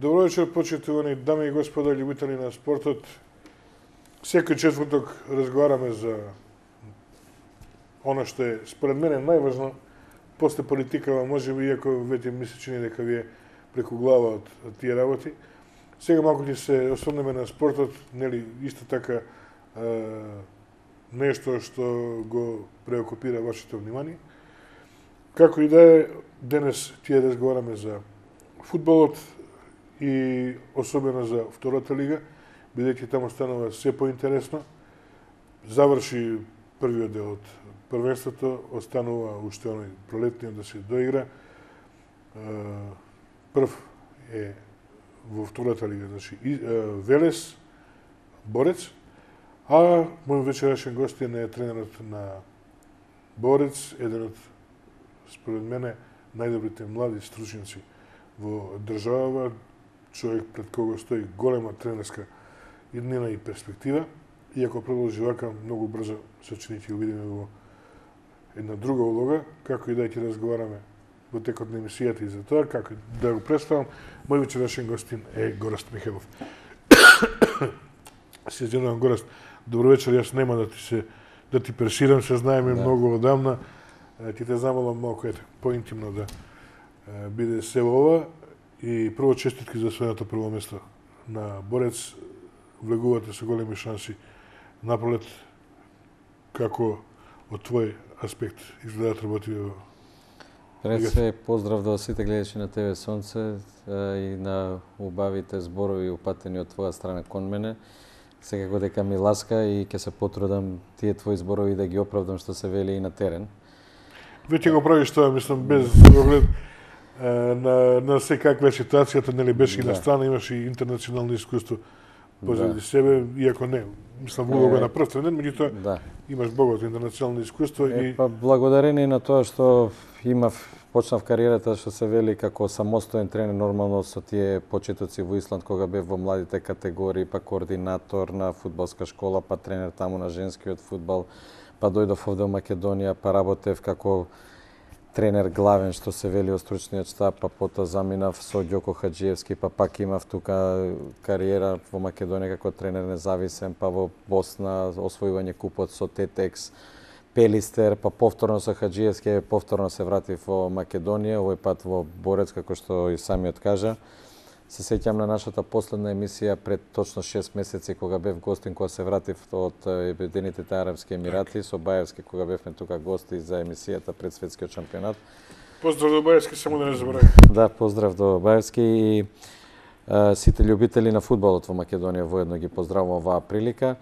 Добро вечер, почитувани дами и господа, љубители на спортот. Секој четврток разговараме за она што е според мене најважно, после политикава можеби, иако веќе ми се чини дека ви е преку глава од тие работи. Сега малку ќе се осврнеме на спортот, нели исто така нешто што го преокупира вашето внимание. Како и да е, денес ќе разговараме за фудбалот и особено за втората лига, бидејќи таму станува се поинтересно. Заврши првиот дел од првенството, останува уште оној пролетниот да се доигра. Прв е во втората лига, значи Велес, Борец, а мој вечерашен гостин е тренерот на Борец, еден од, според мене, најдобрите млади стручници во државава, човек пред кого стои голема тренерска иднина и перспектива. И ако продолжи вака, многу брзо се чини ќе го видиме во една друга улога, како и да ќе разговараме во текот на емисијата и за тоа, како да го представам, мој вечерашен гостин е Гораст Михелов. Се извинувам, Гораст, добро вечер, јас нема да ти пресирам, се знаеме многу одамна. Ќе те замолам малку поинтимно да биде се ова. И прво честитки за својното прво место на Борец. Влегувате со големи шанси напролет. Како од твој аспект изгледат работи во Пред се поздрав до сите гледачи на ТВ Сонце и на убавите зборови упатени од твоја страна кон мене. Секако дека ми ласка и ќе се потрудам тие твои зборови да ги оправдам што се вели и на терен. Веќе го правиш тоа, мислам, без оглед на секаква ситуацијата, нели беше и на страна, имаш и интернационално искуство позади себе, иако не, мислам, улога на прв тренер, меѓутоа имаш богато интернационално искуство. Благодарение на тоа што почнав кариерата, што се вели како самостоен тренер, нормално со тие почетоци во Исланд, кога бев во младите категории, па координатор на фудбалска школа, па тренер таму на женскиот фудбал, па дојдов овде во Македонија, па работев како тренер главен, што се вели од стручниот штаб, па потоа заминав со Ѓоко Хаџиевски, па пак имав тука кариера во Македонија како тренер независен, па во Босна освојување купот со Тетекс, Пелистер, па повторно со Хаџиевски, повторно се вратив во Македонија, овој пат во Борец, како што и самиот кажа. Се сеќам на нашата последна емисија пред точно 6 месеци, кога бев гостин, кога се вратив од Обединетите арапски емирати, со Баевски, кога бевме тука гости за емисијата пред светскиот шампионат. Поздрав до Баевски, само да не заборави. Да, поздрав до Баевски и сите љубители на фудбалот во Македонија воедно ги поздравувам оваа прилика.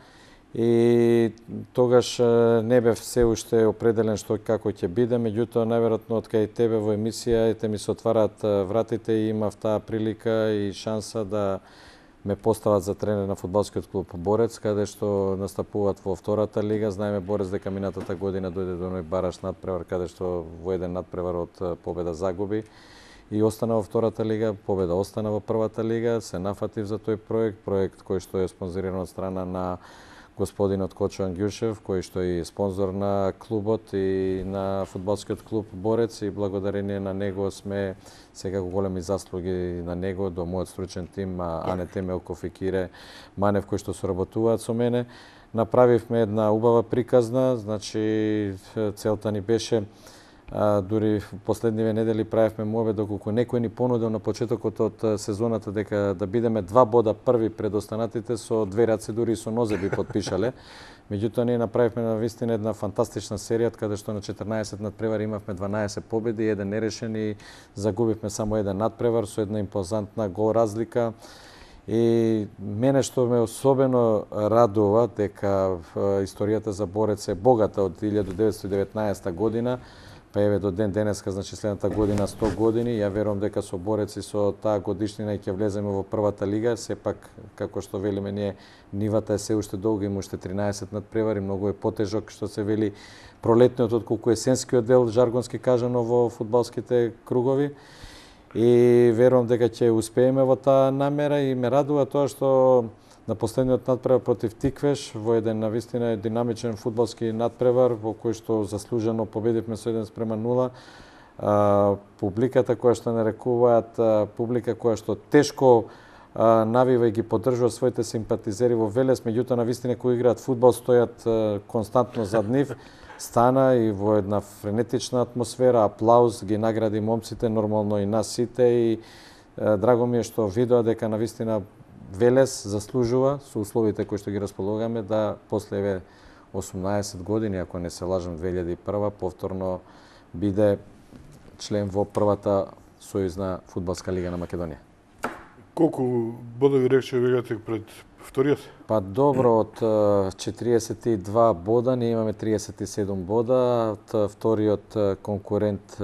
И тогаш не бев се уште определен што како ќе биде, меѓутоа најверојатно од кај тебе во емисија ми се отвараат вратите и имав таа прилика и шанса да ме постават за тренер на фудбалскиот клуб Борец, каде што настапуваат во втората лига. Знаеме Борец дека минатата година дојде до оној бараш надпревар, каде што во еден надпревар од победа загуби и остана во втората лига, победа остана во првата лига. Се нафатив за тој проект кој што е спонзориран од страна на господинот Кочо Ангјушев, кој што е спонзор на клубот и на фудбалскиот клуб Борец, и благодарение на него сме секако големи заслуги на него, до мојот стручен тим, Ане Темелков и Кире Манев, кои што соработуваат со мене. Направивме една убава приказна, значи целта ни беше, дури последниве недели правевме мове, доколку некој ни понудил на почетокот од сезоната дека да бидеме 2 бода први пред останатите, со 2 раце, дури и со нозе би подпишале. Меѓутоа ние направивме навистина една фантастична серија, каде што на 14 надпревари имавме 12 победи, 1 нерешен и загубивме само 1 надпревар со една импозантна гол разлика. И мене што ме особено радува дека историјата за Борец е богата од 1919 година, па еве до ден денеска, значи следната година 100 години. Ја верувам дека со Борец и со таа годишнина ќе влеземе во првата лига. Сепак, како што велиме ние, нивата е се уште долга, има уште 13 надпревари, многу е потежок што се вели пролетниот отколку есенскиот дел, жаргонски кажано во фудбалските кругови. И верувам дека ќе успееме во таа намера и ме радува тоа што на последниот надпревар против Тиквеш во еден навистина динамичен фудбалски надпревар во кој што заслужено победивме со 1:0. публиката која што нарекуваат публика која што тешко навива и ги поддржува своите симпатизери во Велес, меѓутоа навистина кои играат фудбал стојат константно зад нив. Стана и во една френетична атмосфера, аплауз, ги награди момците, нормално и нас сите, и драго ми е што видоа дека навистина Велес заслужува со условите кои што ги располагаме да после 18 години, ако не се лажам 2001, повторно биде член во првата сојузна фудбалска лига на Македонија. Колку бодови рече вегате пред вториот? Па добро, од 42 бода ние имаме 37 бода, од вториот конкурент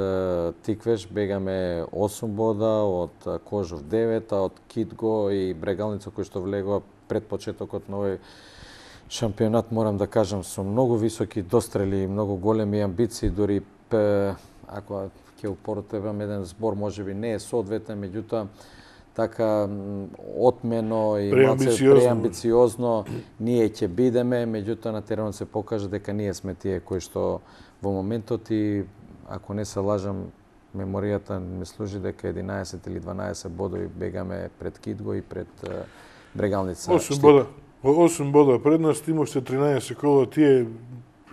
Тиквеш бегаме 8 бода, од Кожов 9, а од Китго и Брегалница кои што влегува пред почетокот на овој шампионат, морам да кажам, со многу високи дострели и многу големи амбиции, дури ако ќе употребам еден збор, можеби не е соодветен, меѓутоа така отмено и преамбициозно ние ќе бидеме, меѓутоа на теренот се покажа дека ние сме тие кои што во моментот, и ако не се лажам, меморијата ми служи дека 11 или 12 бодови бегаме пред Китго и пред Брегалница. 8 бода пред нас, имавте 13 кола, тие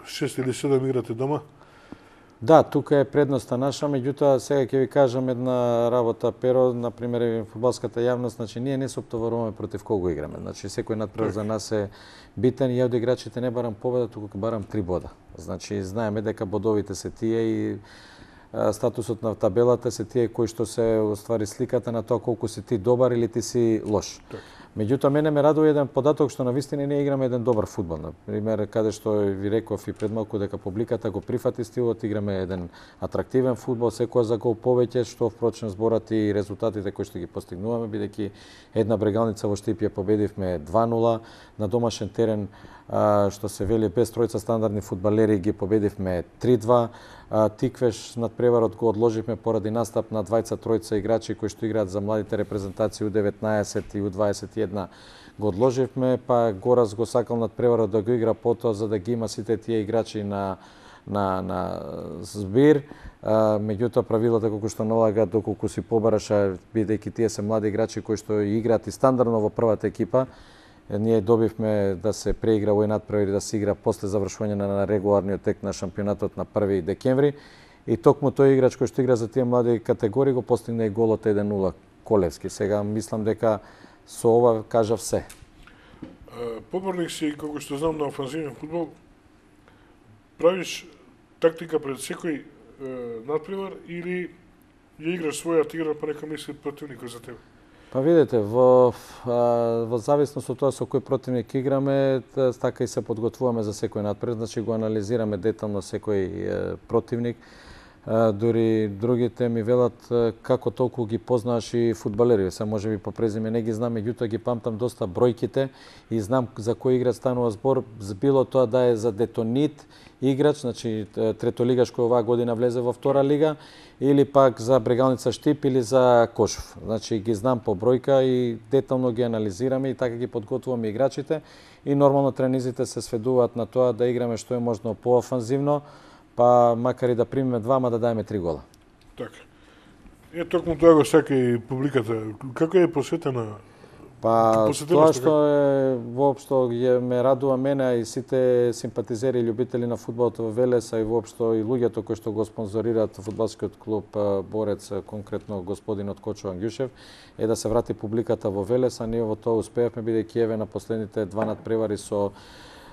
6 или 7 играте дома? Да, тука е предноста наша, меѓутоа сега ќе ви кажам една работа, Перо, на пример, фудбалската јавност, значи ние не се оптоваруваме против кого играме. Значи секој надпревар за нас е битен, и ја од играчите не барам победа, туку барам 3 бода. Значи знаеме дека бодовите се тие и статусот на табелата се тие кои што се оствари сликата на тоа колку си ти добар или ти си лош. Меѓутоа, мене ме радува еден податок што навистина ние играме еден добар фудбал. Например, каде што ви реков и пред малку дека публиката го прифати стилот, играме еден атрактивен фудбал, секоја за гол повеќе, што впрочем зборат и резултатите кои што ги постигнуваме, бидејќи една Брегалница во Штип ја победивме 2-0, на домашен терен, што се вели без тројца стандардни фудбалери, ги победивме 3-2, Тиквеш надпреварот го одложивме поради настап на двајца-тројца играчи кои што играат за младите репрезентации U19 и U21, го одложивме, па Горас го сакал надпреварот да го игра потоа за да ги има сите тие играчи на збир, меѓутоа правилата колку што налагаат доколку си побараша, бидејќи тие се млади играчи кои што играат и стандардно во првата екипа, ние добивме да се преигра овој надпревар и да се игра после завршување на регуларниот тек на шампионатот на 1 декември, и токму тој играч кој што игра за тие млади категории го постигна и голот 1-0 Колевски. Сега мислам дека со ова кажав се. Поборник си, колку што знам, на офанзивен фудбал, правиш тактика пред секој надпревар или ја играш својата игра, па нека мисли противникот за тебе? Па видите, во зависност од тоа со кој противник играме, така и се подготвуваме за секој надпревар, значи го анализираме детално секој противник. Дури другите ми велат како толку ги познаеш и фудбалери. Се можеби по презиме не ги знам, меѓутоа ги памтам доста бројките и знам за кој играч станува збор, било тоа да е за Детонит играч, значи третолигаш кој оваа година влезе во втора лига, или пак за Брегалница Штип или за Кошов. Значи ги знам по бројка и детално ги анализираме и така ги подготвуваме играчите, и нормално тренизите се сведуваат на тоа да играме што е можно поофанзивно, па макар и да примеме 2, ма да даеме 3 гола. Така. Токму тоа го сака и публиката. Како е посветена? Па тоа што е воопшто ме радува мене и сите симпатизери и љубители на фудбалот во Велес, а и воопшто и луѓето кои што го спонзорираат фудбалскиот клуб Борец, конкретно господинот Кочо Ангјушев, е да се врати публиката во Велес, а ние во тоа успеавме, бидејќи еве на последните 2 надпревари со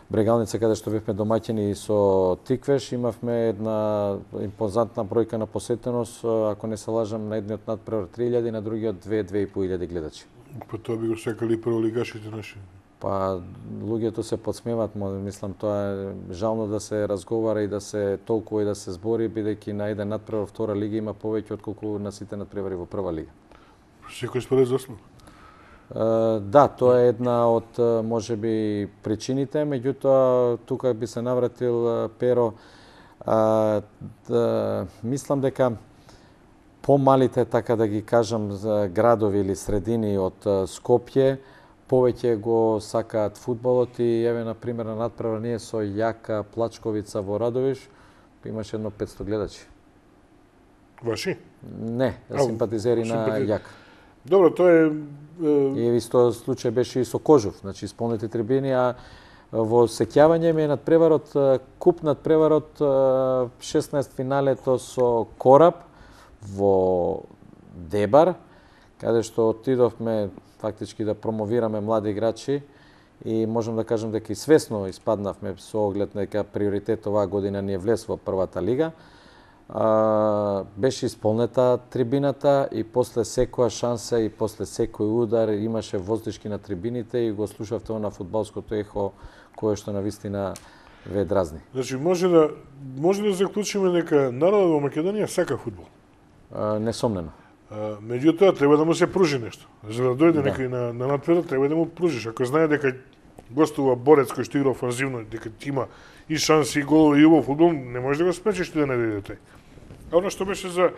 Брегалница, каде што бевме домаќини, и со Тиквеш, имавме една импозантна бројка на посетеност, ако не се лажам, на едниот надпревар 3000, на другиот 2-2.500 гледачи. Па тоа би го сакали прволигашите наши. Па луѓето се подсмеват, мислам тоа е жално да се разговара и да се толкува и да се збори, бидејќи на еден надпревар во втора лига има повеќе отколку на сите надпревари во прва лига. Секој според заслуга? Да, тоа е една од можеби причините, меѓутоа тука би се навратил Перо, мислам дека помалите, така да ги кажам, градови или средини од Скопје повеќе го сакаат фудбалот, и еве на пример на надпревар ние со Јака Плачковица во Радовиш имаше едно 500 гледачи. Ваши? Не, симпатизери на Јак. Добро, тоа е... И исто случај беше и со Кожув, значи исполнети трибини, а во сеќавање ми е надпреварот, куп надпреварот 16 финалето со Кораб во Дебар, каде што отидовме фактички да промовираме млади играчи и можам да кажам дека и свесно испаднавме со оглед дека приоритет оваа година ни е влез во првата лига. Беше исполнета трибината и после секоја шанса и после секој удар имаше воздишки на трибините и го слушавте на фудбалското ехо кое што навистина ве дразни. Значи може да заклучиме дека народот во Македонија сака фудбал. Несомнено. Меѓутоа треба да му се пружи нешто. За да дојде некој на надпревар треба да му пружиш. Ако знае дека гостува борец кој што игра офанзивно, дека ти има и шанси и голови и убав фудбал, не можеш да го спречиш ти да не дојде тој. А оно што беше за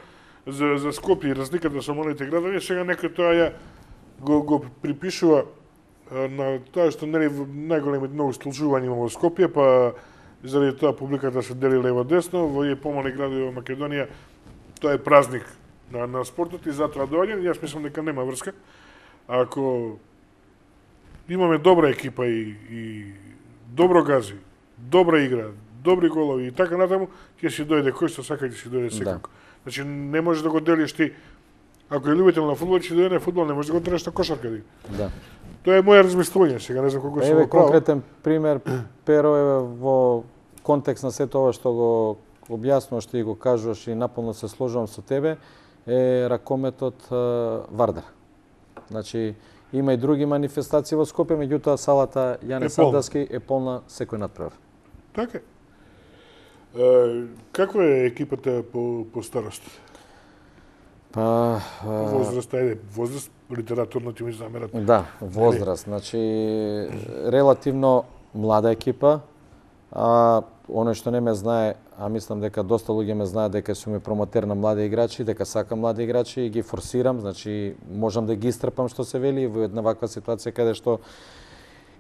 Скопје и разликата со малите градови, сега некој тоа ја го припишува на тоа што нели најголеми многу столчување има во Скопје, па заради тоа публиката се дели лево десно, во овие помали градови во Македонија тоа е празник на спортот и затоа доаѓа. Јас мислам дека нема врска. Ако имаме добра екипа и добро гази, добра игра, добри голови и така натаму, ќе си дојде кој што сака, ќе си дојде секако. Значи не можеш да го делиш ти. Ако е љубител на фудбал, ќе дојде на фудбал, не можеш да го тераш на кошарка. Да. Тоа е моја размислување, сега не знам колку сум во право. Конкретен пример, Перо е во контекст на сето ова што го објаснуваш, ти го кажуваш и наполно се сложувам со тебе, е ракометот Вардар. Значи, има и други манифестации во Скопје, меѓутоа салата Јане Сандовски е полна секој надпревар. Така. Каква е екипата по старост? Возраст, возраст, литературно ти ми замерат. Да, возраст. Значи, релативно млада екипа. Оној што не ме знае, а мислам дека доста луѓе ме знаат дека сум и промотер на млади играчи, дека сакам млади играчи и ги форсирам, значи можам да ги истрпам што се вели во една ваква ситуација каде што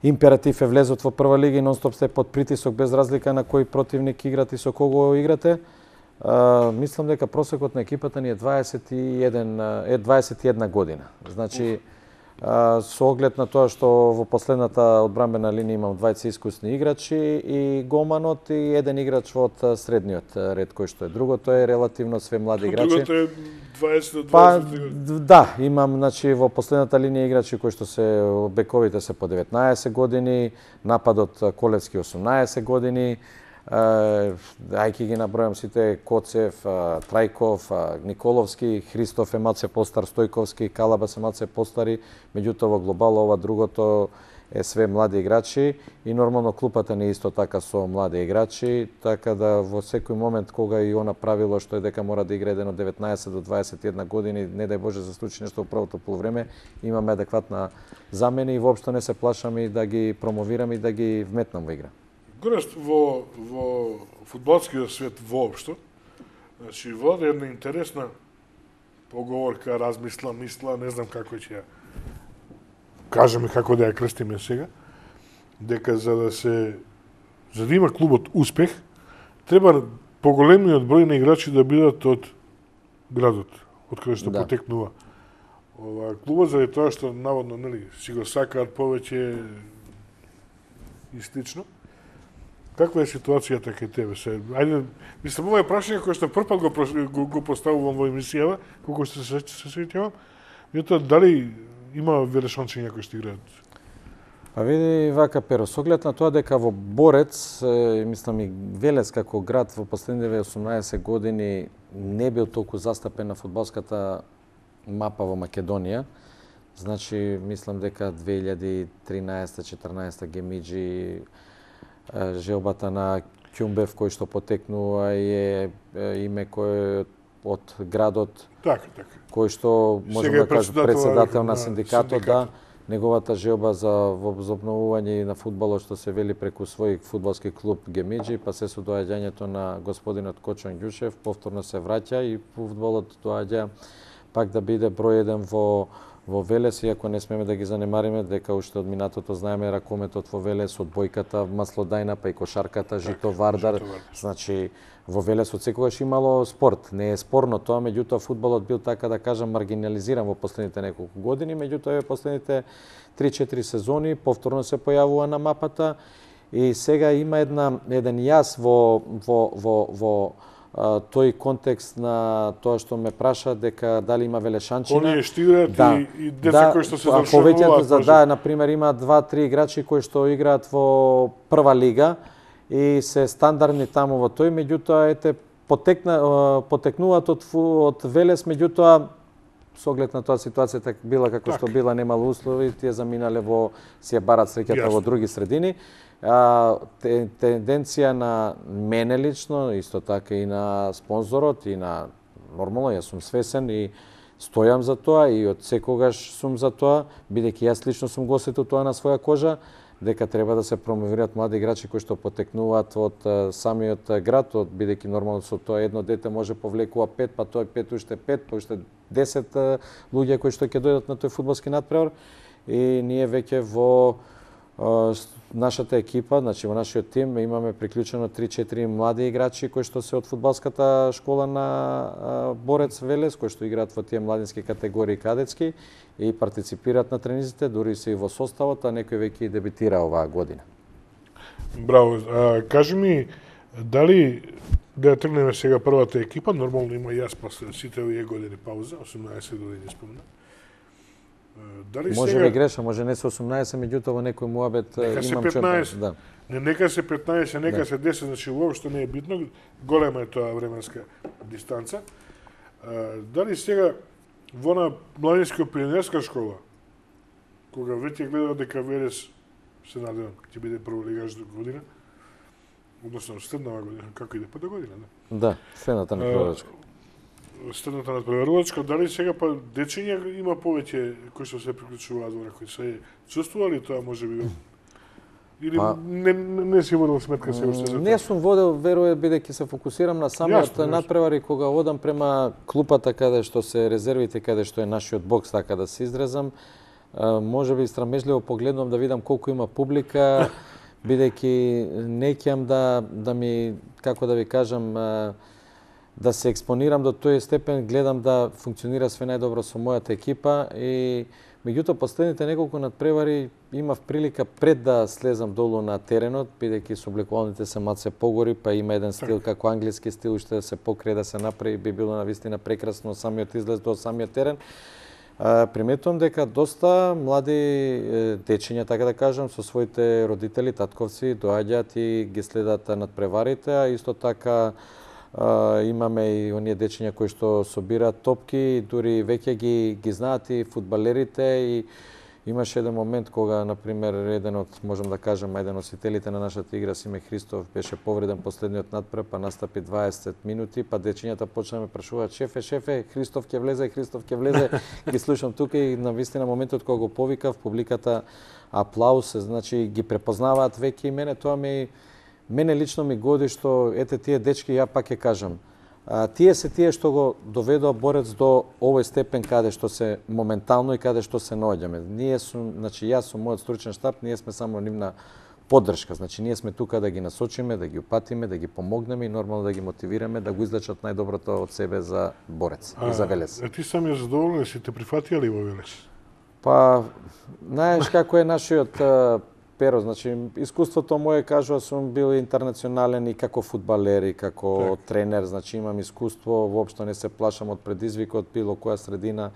императив е влезот во прва лига и нонстоп сте под притисок без разлика на кој противник играте и со кого играте. Мислам дека просекот на екипата ни е 21 година. Значи, со оглед на тоа што во последната одбранбена линија имам двајца искусни играчи и голманот и еден играч од средниот ред кој што е. Другото е релативно све млади играчи. Другото е 20 до 20. Да, имам значи во последната линија играчи кои што се бековите се по 19 години, нападот Колевски 18 години. Ајки ги набројам сите: Коцев, Трајков, Николовски, Христоф е малце постар, Стојковски, Калабас е малце постари, меѓутоа во глобало ова другото е све млади играчи и нормално клупата не е исто така со млади играчи, така да во секој момент кога и она правило што е дека мора да игра еден од 19 до 21 години, не дај Боже се случи нешто во првото полувреме, имаме адекватна замена и воопшто не се плашам и да ги промовирам и да ги вметнам во игра. Горест во фудбалскиот свет воопшто, значи води една интересна поговорка, размисла, мисла, не знам како ќе ја кажеме, како да ја крстиме сега, дека за да има клубот успех, треба поголемиот број на играчи да бидат од градот, од каде што потекнува клубот, заради тоа што наводно нели си го сакаат повеќе и слично. Каква е ситуацијата кај тебе? Ајде, мислам, ова е прашање кој што првпат го поставувам во емисијава, колку што се сеќавам. Меѓутоа, дали има велешанци някои што играат? Па види вака, Перо, со оглед на тоа дека во Борец, мислам и Велес како град во последниве 18 години не бил толку застапен на фудбалската мапа во Македонија. Значи, мислам дека 2013-14 Гемиджи, желбата на Ќумбев кој што потекнува е име кој од градот, кој што можам да кажам председател на синдикатот, да, неговата желба за возобновување на фудбалот што се вели преку свој фудбалски клуб Гемиджи, па се со доаѓањето на господинот Кочон Ѓушев, повторно се враќа и фудбалот доаѓа пак да биде број еден во во Велес, иако не смеме да ги занемариме, дека уште од минатото знаеме ракометот во Велес, одбојката, маслодајна, па и кошарката, жито Вардар. Значи, во Велес од секогаш имало спорт. Не е спорно тоа, меѓутоа фудбалот бил, така да кажам, маргинализиран во последните неколку години, меѓутоа последните 3-4 сезони повторно се појавува на мапата и сега има еден јас во тој контекст на тоа што ме праша дека дали има велешанчина. Оние што играат и деца кои што се завршуваат. Да, например, има 2-3 играчи кои што играат во прва лига и се стандардни таму во тој, меѓутоа ете потекнуваат од Велес, меѓутоа со оглед на тоа ситуацијата била како што била, немало услови, тие заминале си ја барат среќата во други средини. Тенденција на мене лично, исто така и на спонзорот и на нормално, јас сум свесен и стојам за тоа и од секогаш сум за тоа, бидејќи јас лично сум го осетил тоа на своја кожа, дека треба да се промовираат млади играчи кои што потекнуваат од самиот град, бидејќи нормално со тоа едно дете може повлекува 5, па тоа 5 уште 5, па уште 10 луѓе кои што ќе дојдат на тој фудбалски натпревар и ние веќе во нашата екипа, значи во нашиот тим имаме приклучено 3-4 млади играчи кои што се од фудбалската школа на Борец Велес, кои што играат во тие младински категории кадетски и партиципираат на тренизите, дури се и во составот, а некој веќе и дебитира оваа година. Браво. Кажи ми, дали да тргнеме сега првата екипа, нормално има јас после сите овие години пауза, 18 години спомна. Може би греша, може не се 18, меѓутоа во некој муабет имам 15. Да. Нека се 15, нека се 10, значи уопшто не е битно, голема е тоа временска дистанца. Дали сега во на младинско-пионерска школа, кога веќе гледа дека Велес се надевам ќе биде прволигаш до година, односно следнава година, како иде па до година, да? Да, следната надпреварачка. Следната надпреварачка, дали сега па дечиња има повеќе кои што се приклучуваат во кои се чувствували тоа можеби? Или не си водел сметка се уште за тоа? Не сум водел, верувам, бидејќи се фокусирам на самиот надпревар и кога одам према клупата каде што се резервите, каде што е нашиот бокс, така да се изразам, можеби страмежливо погледнувам да видам колку има публика, бидејќи не ќам да ми, како да ви кажам, да се експонирам до тој степен, гледам да функционира све најдобро со мојата екипа и меѓутоа последните неколку надпревари имав прилика пред да слезам долу на теренот, бидејќи собликувалните се малце погори, па има еден стил како англиски стил, уште да се покрие, да се направи, би било навистина прекрасно самиот излез до самиот терен. Приметувам дека доста млади дечиња, така да кажам, со своите родители, татковци, доаѓаат и ги следат надпреварите, а исто така имаме и оние дечиња кои што собираат топки, дури веќе ги знаат и фудбалерите и имаше еден момент кога, например, еден од, можам да кажам, еден носителите на нашата игра, Симе Христов, беше повреден последниот надпрев, па настапи 20 минути, па дечињата почна да ме прашуваат: шефе, Христов ќе влезе, ги слушам тука и навистина моментот кога го повикав, публиката аплауз, значи ги препознаваат веќе и мене лично ми годи што ете тие дечки, ја пак ќе кажам, тие се тие што го доведоа Борец до овој степен каде што се моментално и каде што се наоѓаме. Значи јас со мојот стручен штаб, ние сме само нивна поддршка. Значи ние сме тука да ги насочиме, да ги упатиме, да ги помогнеме и нормално да ги мотивираме да го излечат најдоброто од себе за Борец и за Велес. Ти сам ја задоволен си те прифатија ли во Велес? Па, знаеш како е нашиот Pero, значи, искуството моје, кажува, сум бил интернационален и како фудбалер и како тренер, значи имам искуство, воопшто не се плашам од предизвикот, било која средина.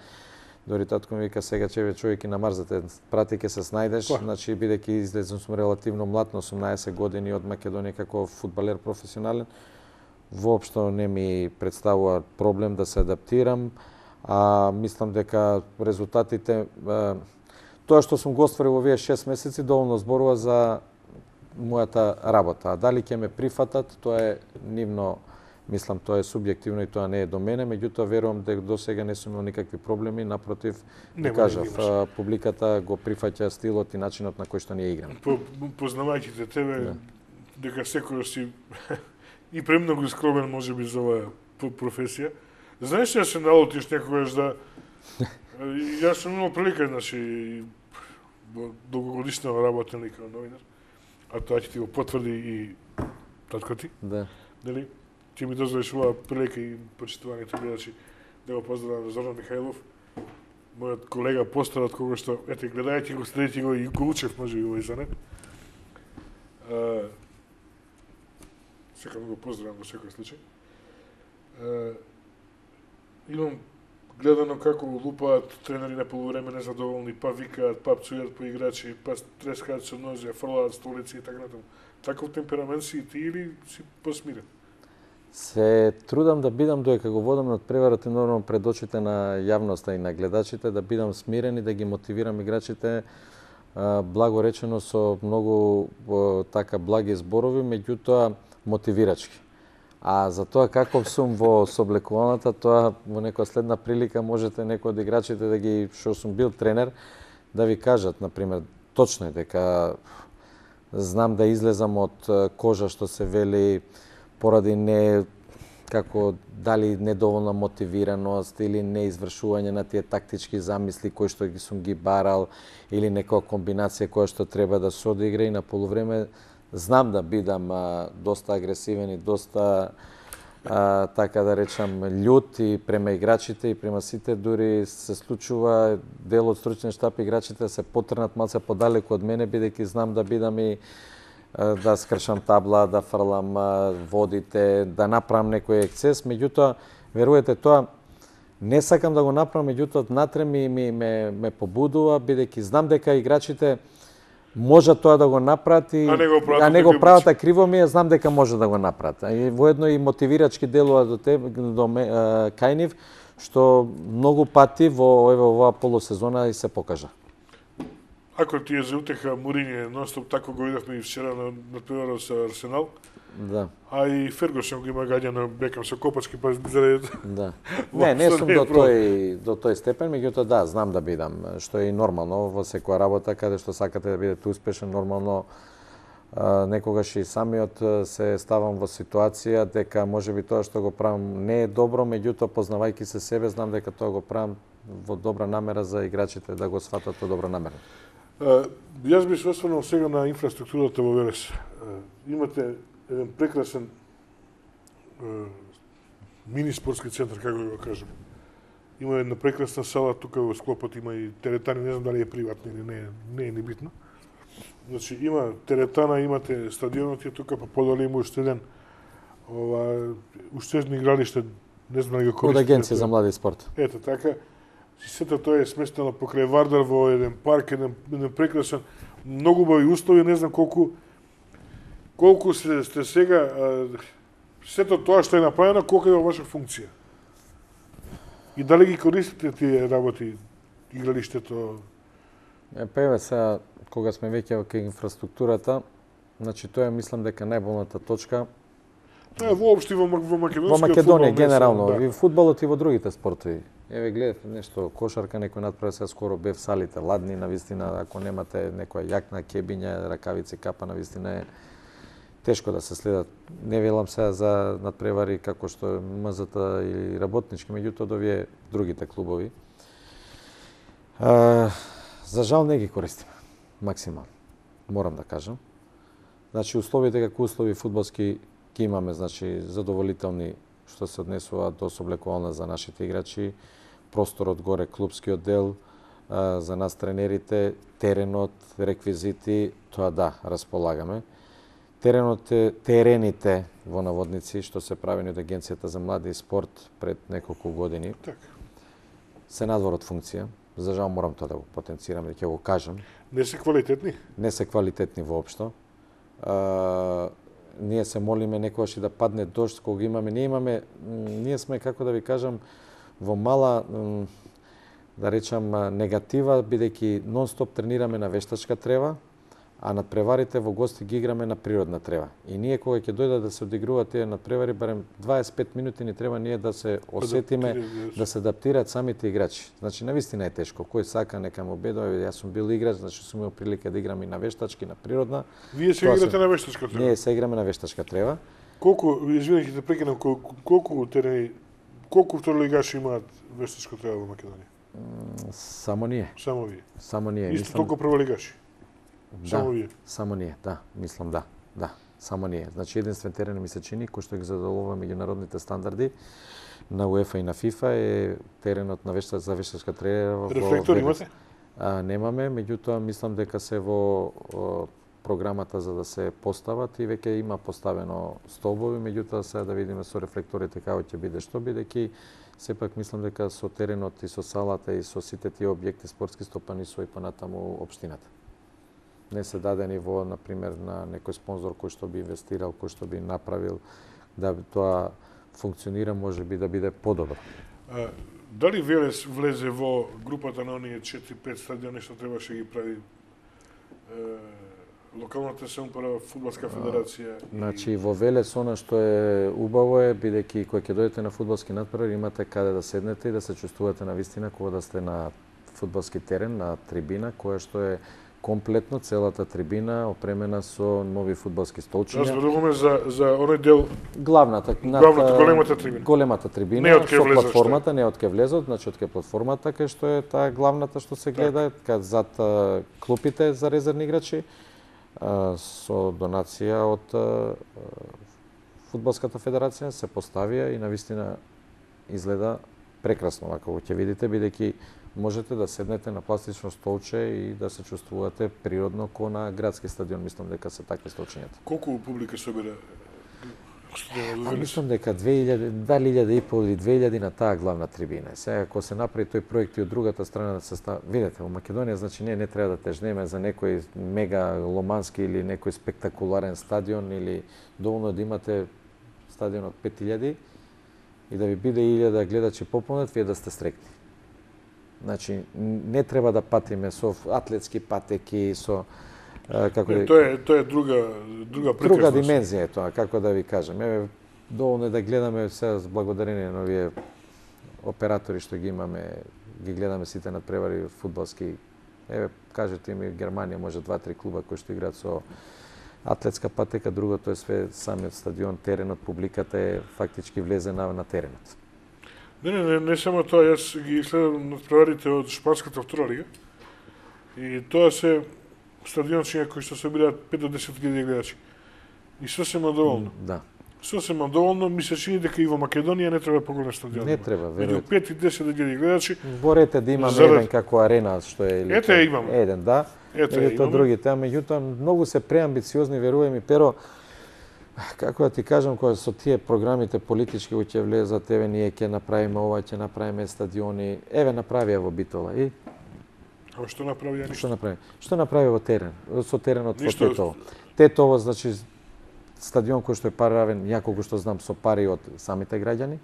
Дори татко ми вика: сега човек и на Марс да те прати, ќе се снајдеш, значи бидејќи излезен сум релативно млад, на 18 години од Македонија како фудбалер професионален, воопшто не ми представува проблем да се адаптирам, а мислам дека резултатите тоа што сум го остварил во овие 6 месеци доволно зборува за мојата работа. А дали ќе ме прифатат, тоа е нивно, мислам, тоа е субјективно и тоа не е до мене, меѓутоа верувам дека до сега не сум имал никакви проблеми, напротив, кажав, публиката го прифаќа стилот и начинот на кој што ние играме. Познавајќи тебе, дека секој си и премногу скромен можеби за оваа професија. Знаеш што се налутиш некогаш да Јас сум имал прилика, значи, долгогодишна работен како новинар, а тоа ќе ти го потврди и татко ти. Да. Нели? Ќе ми дозволиш оваа прилика и почитуваните гледачи да го поздравам Зоран Михајлов, мојот колега постар, од кога што, ете, гледајќи го, следејќи го и го учев, може и овој занет. Сакам да го поздравам во секој случај. Имам гледано како лупаат тренери на полувреме незадоволни, па викаат, па пцујат по играчи, па трескаат со нозе, фрлаат столици и така натаму. Таков темперамент си и ти или си посмирен? Се трудам да бидам, додека го водам надпреварот и нормално пред очите на јавноста и на гледачите, да бидам смирен и да ги мотивирам играчите, благо речено со многу така благи зборови, меѓутоа мотивирачки. А за тоа каков сум во соблекуваната, тоа во некоја следна прилика можете некој од играчите да ги, што сум бил тренер, да ви кажат, например, точно е дека знам да излезам од кожа, што се вели, поради не како дали недоволна мотивираност или неизвршување на тие тактички замисли кои што ги сум ги барал или некоја комбинација која што треба да се одигра и на полувреме знам да бидам доста агресивен и доста така да речам љут и према играчите и према сите, дури се случува дел од стручен штаб играчите се потрнат малце подалеку од мене бидејќи знам да бидам и да скршам табла, да фрлам водите, да направам некој ексцес, меѓутоа верувате тоа не сакам да го направам, меѓутоа внатре ме побудува бидејќи знам дека играчите може тоа да го направат и не го прават, а криво ми е, знам дека може да го направат. И воедно и мотивирачки делува до кај нив, што многу пати во оваа полусезона и се покажа. Ако ти е за утеха Муриње, нонстоп тако го видовме и вчера на надпреварот со Арсенал. Да. А и Фергусон го има гаѓано Бекам со копачки, па заради... Да. Не сум до тој степен, меѓутоа да, знам да бидам, што е и нормално во секоја работа, каде што сакате да бидете успешен, нормално некогаш и самиот се ставам во ситуација дека можеби тоа што го правам не е добро, меѓутоа познавајќи се себе, знам дека тоа го правам во добра намера за играчите да го сватат во добра намера. Јас би се осврнал сега на инфраструктурата во Велес. Имате еден прекрасен мини спортски центар, како да го кажем. Има една прекрасна сала, тука во склопот има и теретани, не знам дали е приватна или не е ни битно. Значи, има теретана, имате стадионот и тука, па подоле има уште еден уште едно игралиште, не знам дали го користите. Од Агенција за млади спорт. Ето така. Сето тоа е сместено покрај Вардар во еден парк, еден прекрасен, многу убави услови, не знам колку сте сега, сето тоа што е направено, колку е во ваша функција? И дали ги користите тие работи, игралиштето? Па сега, кога сме веќе кај инфраструктурата, значи тоа мислам дека најболната точка. Тоа е воопшто во Македонија. Во Македонија генерално, и фудбалот и во другите спортови. Еве гледате нешто, кошарка некој надправи, сега скоро бев салите ладни, навистина, ако немате некоја јакна, кебиња, ракавици, капа, навистина е тешко да се следат. Не велам сега за надпревари како што МЗТ или работнички, меѓутоа до овие другите клубови. За жал не ги користиме максимално, морам да кажам. Значи условите како услови фудбалски ги имаме, значи задоволителни што се однесува до соблекувална за нашите играчи, просторот горе, клубскиот дел, за нас тренерите, теренот, реквизити, тоа да, располагаме. Терените во наводници, што се правени од Агенцијата за млади и спорт пред неколку години, се надвор од функција. За жал морам тоа да го потенцирам, да ќе го кажам. Не се квалитетни? Не се квалитетни воопшто. Ние се молиме некогаш и да падне дожд кога имаме. Ние сме, како да ви кажам, во мала, да речам, негатива, бидејќи нон-стоп тренираме на вештачка трева, а надпреварите во гости ги играме на природна трева. И ние кога ќе дојдат да се одигруваат тие надпревари, барем 25 минути ни треба ние да се осетиме, да се адаптираат самите играчи. Значи, навистина е тешко. Кој сака, нека му бедува. Јас сум бил играч, значи сум имал прилика да играм и на вештачки, на природна. Вие се играте на вештачка трева? Ние се играме на вештачка трева. Колку, извинете да прекинам, колку второлигаши имаат вештачка трева во Македонија? Само ние. Само вие. Само ние. Исто толку прволигаши. Да, Само вие. Само ние, да, мислам да. Да, само ние. Значи единствен терен ми се чини кој што ги задоволува меѓународните стандарди на УЕФА и на ФИФА е теренот на за вештачка тренера. Рефлектор имате? Немаме, меѓутоа мислам дека се во програмата за да се постават и веќе има поставено столбови, меѓутоа сега да видиме со рефлекторите како ќе биде, што бидејќи сепак мислам дека со теренот и со салата и со сите тие објекти спортски стопанисува и понатаму општината. Не се дадени во, например, на некој спонзор кој што би инвестирал, кој што би направил да тоа функционира, може би да биде подобро. Дали Велес влезе во групата на оние 4-5 стадиони што требаше ги прави локалната самоуправа, фудбалска федерација? Значи во Велес она што е убаво е бидејќи кога ќе дојдете на фудбалски натпревар имате каде да седнете и да се чувствувате на вистина кога да сте на фудбалски терен, на трибина, која што е комплетно целата трибина опремена со нови фудбалски столчиња. Зборуваме за оној дел главната големата трибина. Големата трибина со платформата, не од ке влезот, значи од ке платформата кај што е таа главната што се гледа, кај зад клупите за резервни играчи со донација од фудбалската федерација се поставија и навистина изгледа прекрасно, ако ќе видите, бидејќи можете да седнете на пластично столче и да се чувствувате природно ко на градски стадион. Мислам дека се такви столчињата. Колку публика собира стадионот во Велес? Мислам дека 2.500 или 2.000 на таа главна трибина. Сега ако се направи тој проект и од другата страна да се видите, во Македонија значи не треба да тежнеме за некој мега ломански или некој спектакуларен стадион или доволно да имате стадион од 5.000 и да ви биде 1.000 гледачи пополнет, вие да сте стрекни. Значи, не треба да патиме со атлетски патеки, со тоа е друга прекрасност. Друга димензија е тоа, како да ви кажем. Еве, доволно е да гледаме сега благодарение на овие оператори што ги имаме, ги гледаме сите надпревари фудбалски. Еве, кажете ми, Германија може 2-3 клуба кои што играат со атлетска патека, другото е све самиот стадион, теренот, публиката е фактички влезена на теренот. Не само тоа, јас ги следам надпреварите од шпанската втора лига и тоа се стадиончиња кои што собираат 5 до 10.000 гледачи. И сосема доволно. Да. Сосема доволно, ми се чини дека и во Македонија не треба поголем стадион. Не треба, веројатно. Меѓу 5 и 10.000 гледачи. Борете да имаме еден како арена што е или ете имаме. Еден, да. Ете другите, меѓутоа многу се преамбициозни, верувај ми, pero како да ти кажам, кога со тие програмите политички кои ќе влезат, еве ние ќе направиме ова, ќе направиме стадиони, еве направија во Битола и а што направија ништо? Што направи? Што направи во терен? Со теренот во Ништо. Тетово. Тетово, значи стадион кој што е паравен, јаколку што знам, со пари од самите граѓани,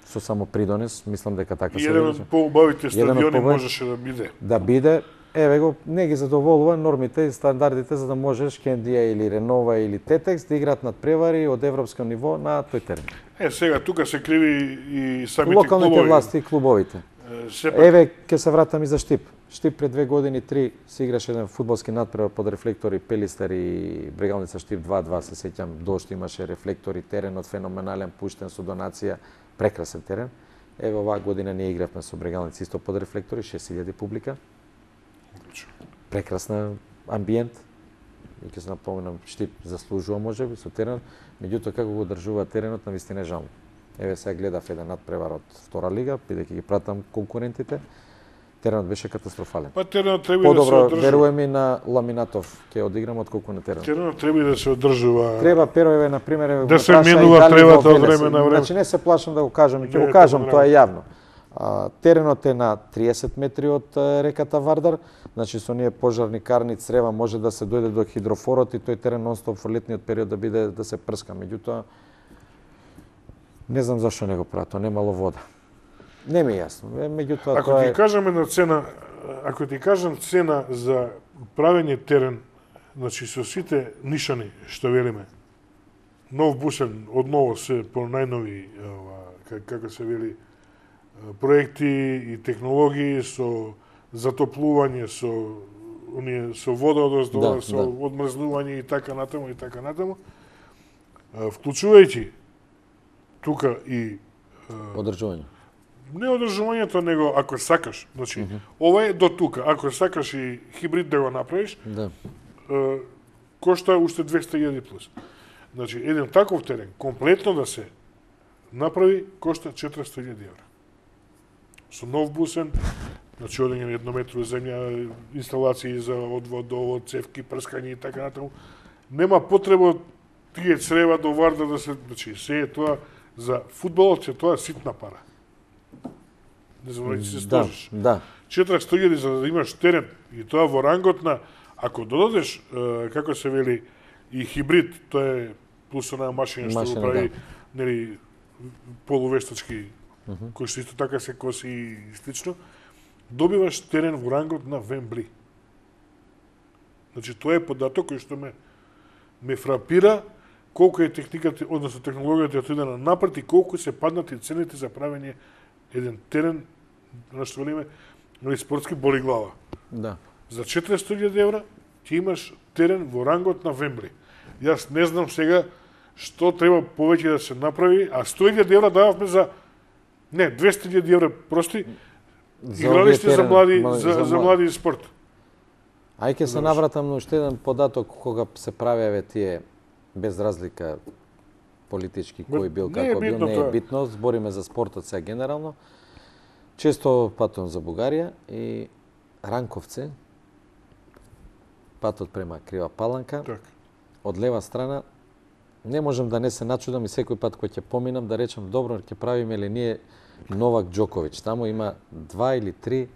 со само придонес, мислам дека така се еден од поубавите стадиони можеше да биде. Да биде, еве го, не ги задоволува нормите и стандардите за да можеш Кендија или Ренова или Тетекс да играат надпревари од европско ниво на тој терен. Сега тука се криви и самите локалните власти и клубовите. Еве ќе се вратам и за Штип. Штип пред 2 години 3 се играше еден фудбалски надпревар под рефлектори Пелистер и Брегалница Штип 2-2, се сеќам, дошто имаше рефлектори, теренот феноменален, пуштен со донација, прекрасен терен. Еве оваа година ние игравме со Брегалница исто под рефлектори, 6000 публика. Прекрасна амбиент. И ќе се напоменам, Штип заслужува можеби со теренот, меѓутоа како го одржува теренот навистина е жално. Еве сега гледав еден надпревар од втора лига, бидејќи ги пратам конкурентите. Теренот беше катастрофален. Па теренот треба да се одржува. Верувам ми на Ламинатов ќе одиграм отколку на теренот. Теренот треба да се одржува. Треба перове на пример да се менува тревата од време на време. Значи не се плашам да го кажам, ќе го кажам, тоа е јавно. Теренот е на 30 метри од реката Вардар, значи со ние пожарни карни црева може да се дојде до хидрофорот и тој терен нонстоп во летниот период да биде да се прска. Меѓутоа не знам зашто не го прават, тоа немало вода. Не ми е јасно. Меѓутоа ако ти кажам една цена, ако ти кажам цена за правење терен, значи со сите нишани што велиме, нов бусен, одново се по најнови како се вели проекти и технологии со затоплување, со вода одоздола, со одмрзнување и така натаму, вклучувајќи тука и одржување. Не одржувањето, него ако сакаш. Значи, ова е до тука. Ако сакаш и хибрид да го направиш, Да. кошта уште 200.000 плюс. Значи, еден таков терен, комплетно да се направи, кошта 400.000 евра. Со нов бусен, значи одење на еднометрова земја, инсталации за одвод, довод, цевки, прскање и така натаму. Нема потреба тие црева до Вардар да се, значи, се е тоа за фудбалот, се тоа ситна пара. Не знам дали се сложиш. Да. 400.000 за да имаш терен и тоа во рангот на, ако додадеш, како се вели, и хибрид, тоа е плюс онаа машина што го прави, нели, полувештачки, кој што исто така се коси и слично, добиваш терен во рангот на Вембли. Значи, тоа е податок кој што ме фрапира колку е техниката, односно технологијата отиде напред и колку се паднати цените за правење еден терен, на што велиме, или спортски боли глава. Да. За 400.000 евра ти имаш терен во рангот на Вембли. Јас не знам сега што треба повеќе да се направи, а 100.000 евра дававме за... Не, 200.000 евра прости игралиште за млади, за млади спорт. Ај ќе се навратам на уште еден податок кога се правеве тие без разлика политички кој бил како бил, не е битно, збориме за спортот сега генерално. Често патувам за Бугарија и Ранковце, патот према Крива Паланка, од лева страна, не можам да не се начудам и секој пат кој ќе поминам да речам добро ќе правиме ли ние Новак Џоковиќ. Таму има 2 или 3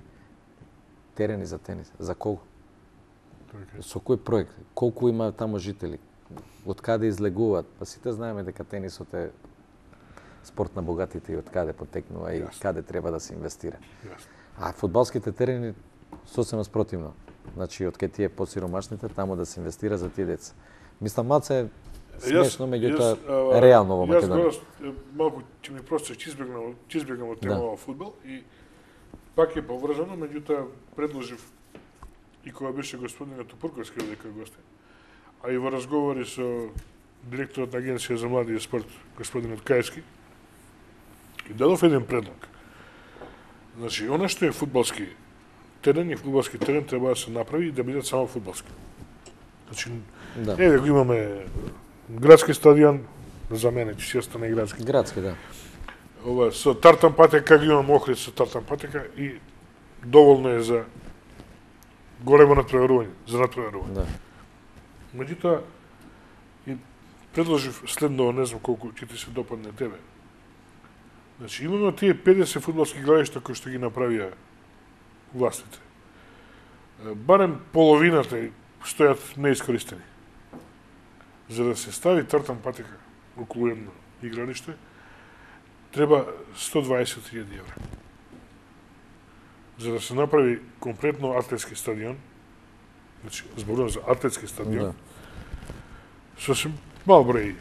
терени за тенис. За колку? Со кој проект? Колку има таму жители? Од каде излегуваат? Па сите знаеме дека тенисот е спорт на богатите и од каде потекнува и каде треба да се инвестира. А фудбалските терени сосема спротивно. Значи, од кај тие посиромашните, таму да се инвестира за тие деца. Мислам, малце смешно, меѓутоа реално во Македонија. Јас малку ќе ми просто ќе избегнам од темава фудбал и пак е поврзано, меѓутоа предложив и кога беше господинот Тупурковски дека гостин, а и во разговори со директорот на Агенција за млади и спорт, господинот Каевски, и дадов еден предлог. Значи, она што е фудбалски терен и фудбалски терен треба да се направи и да бидат само фудбалски. Значи, не да го имаме градски стадион, за мене ќе си остане градски. Градски, да. Ова со тартан патека, го имам Охрид со тартан патека и доволно е за големо натпреварување, за натпреварување. Да. Меѓутоа, и предложив следно, не знам колку ќе ти се допадне тебе. Значи, имаме тие 50 фудбалски игралишта кои што ги направија властите. Барем половината стојат неискористени. За да се стави тартан патека околу едно игралиште, треба 120.000 евра. За да се направи комплетно атлетски стадион, значи, зборувам за атлетски стадион, сосем мал број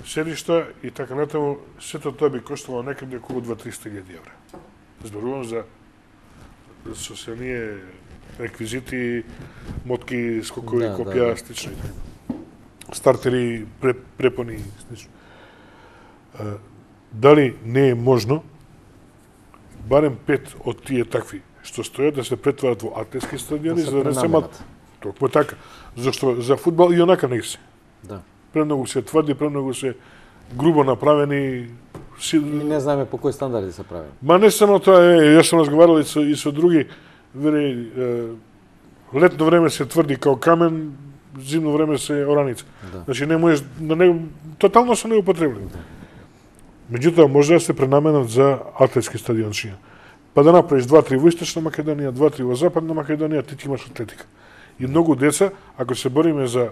седишта и така натаму, сето тоа би коштало некаде околу 200-300.000 евра. Зборувам за со се ние реквизити, мотки, скокови, копија, слично и така. Стартери, препони и слично. Дали не е можно барем 5 од тие такви што стојат да се претварат во атлетски стадиони, за да не се мат. Токму така. Зашто за фудбал и онака не се. Да. Премногу се тврди, премногу се грубо направени. И не знаеме по кои стандарди се правени. Ма не само тоа, јас сум разговарал и со други, вели, летно време се тврди као камен, зимно време се ораница. Да. Значи не можеш на него тотално се неупотребни. Меѓутоа може да се пренаменат за атлетски стадиончиња. Па да направиш 2-3 во Источна Македонија, 2-3 во Западна Македонија, ти имаш атлетика. И многу деца, ако се бориме за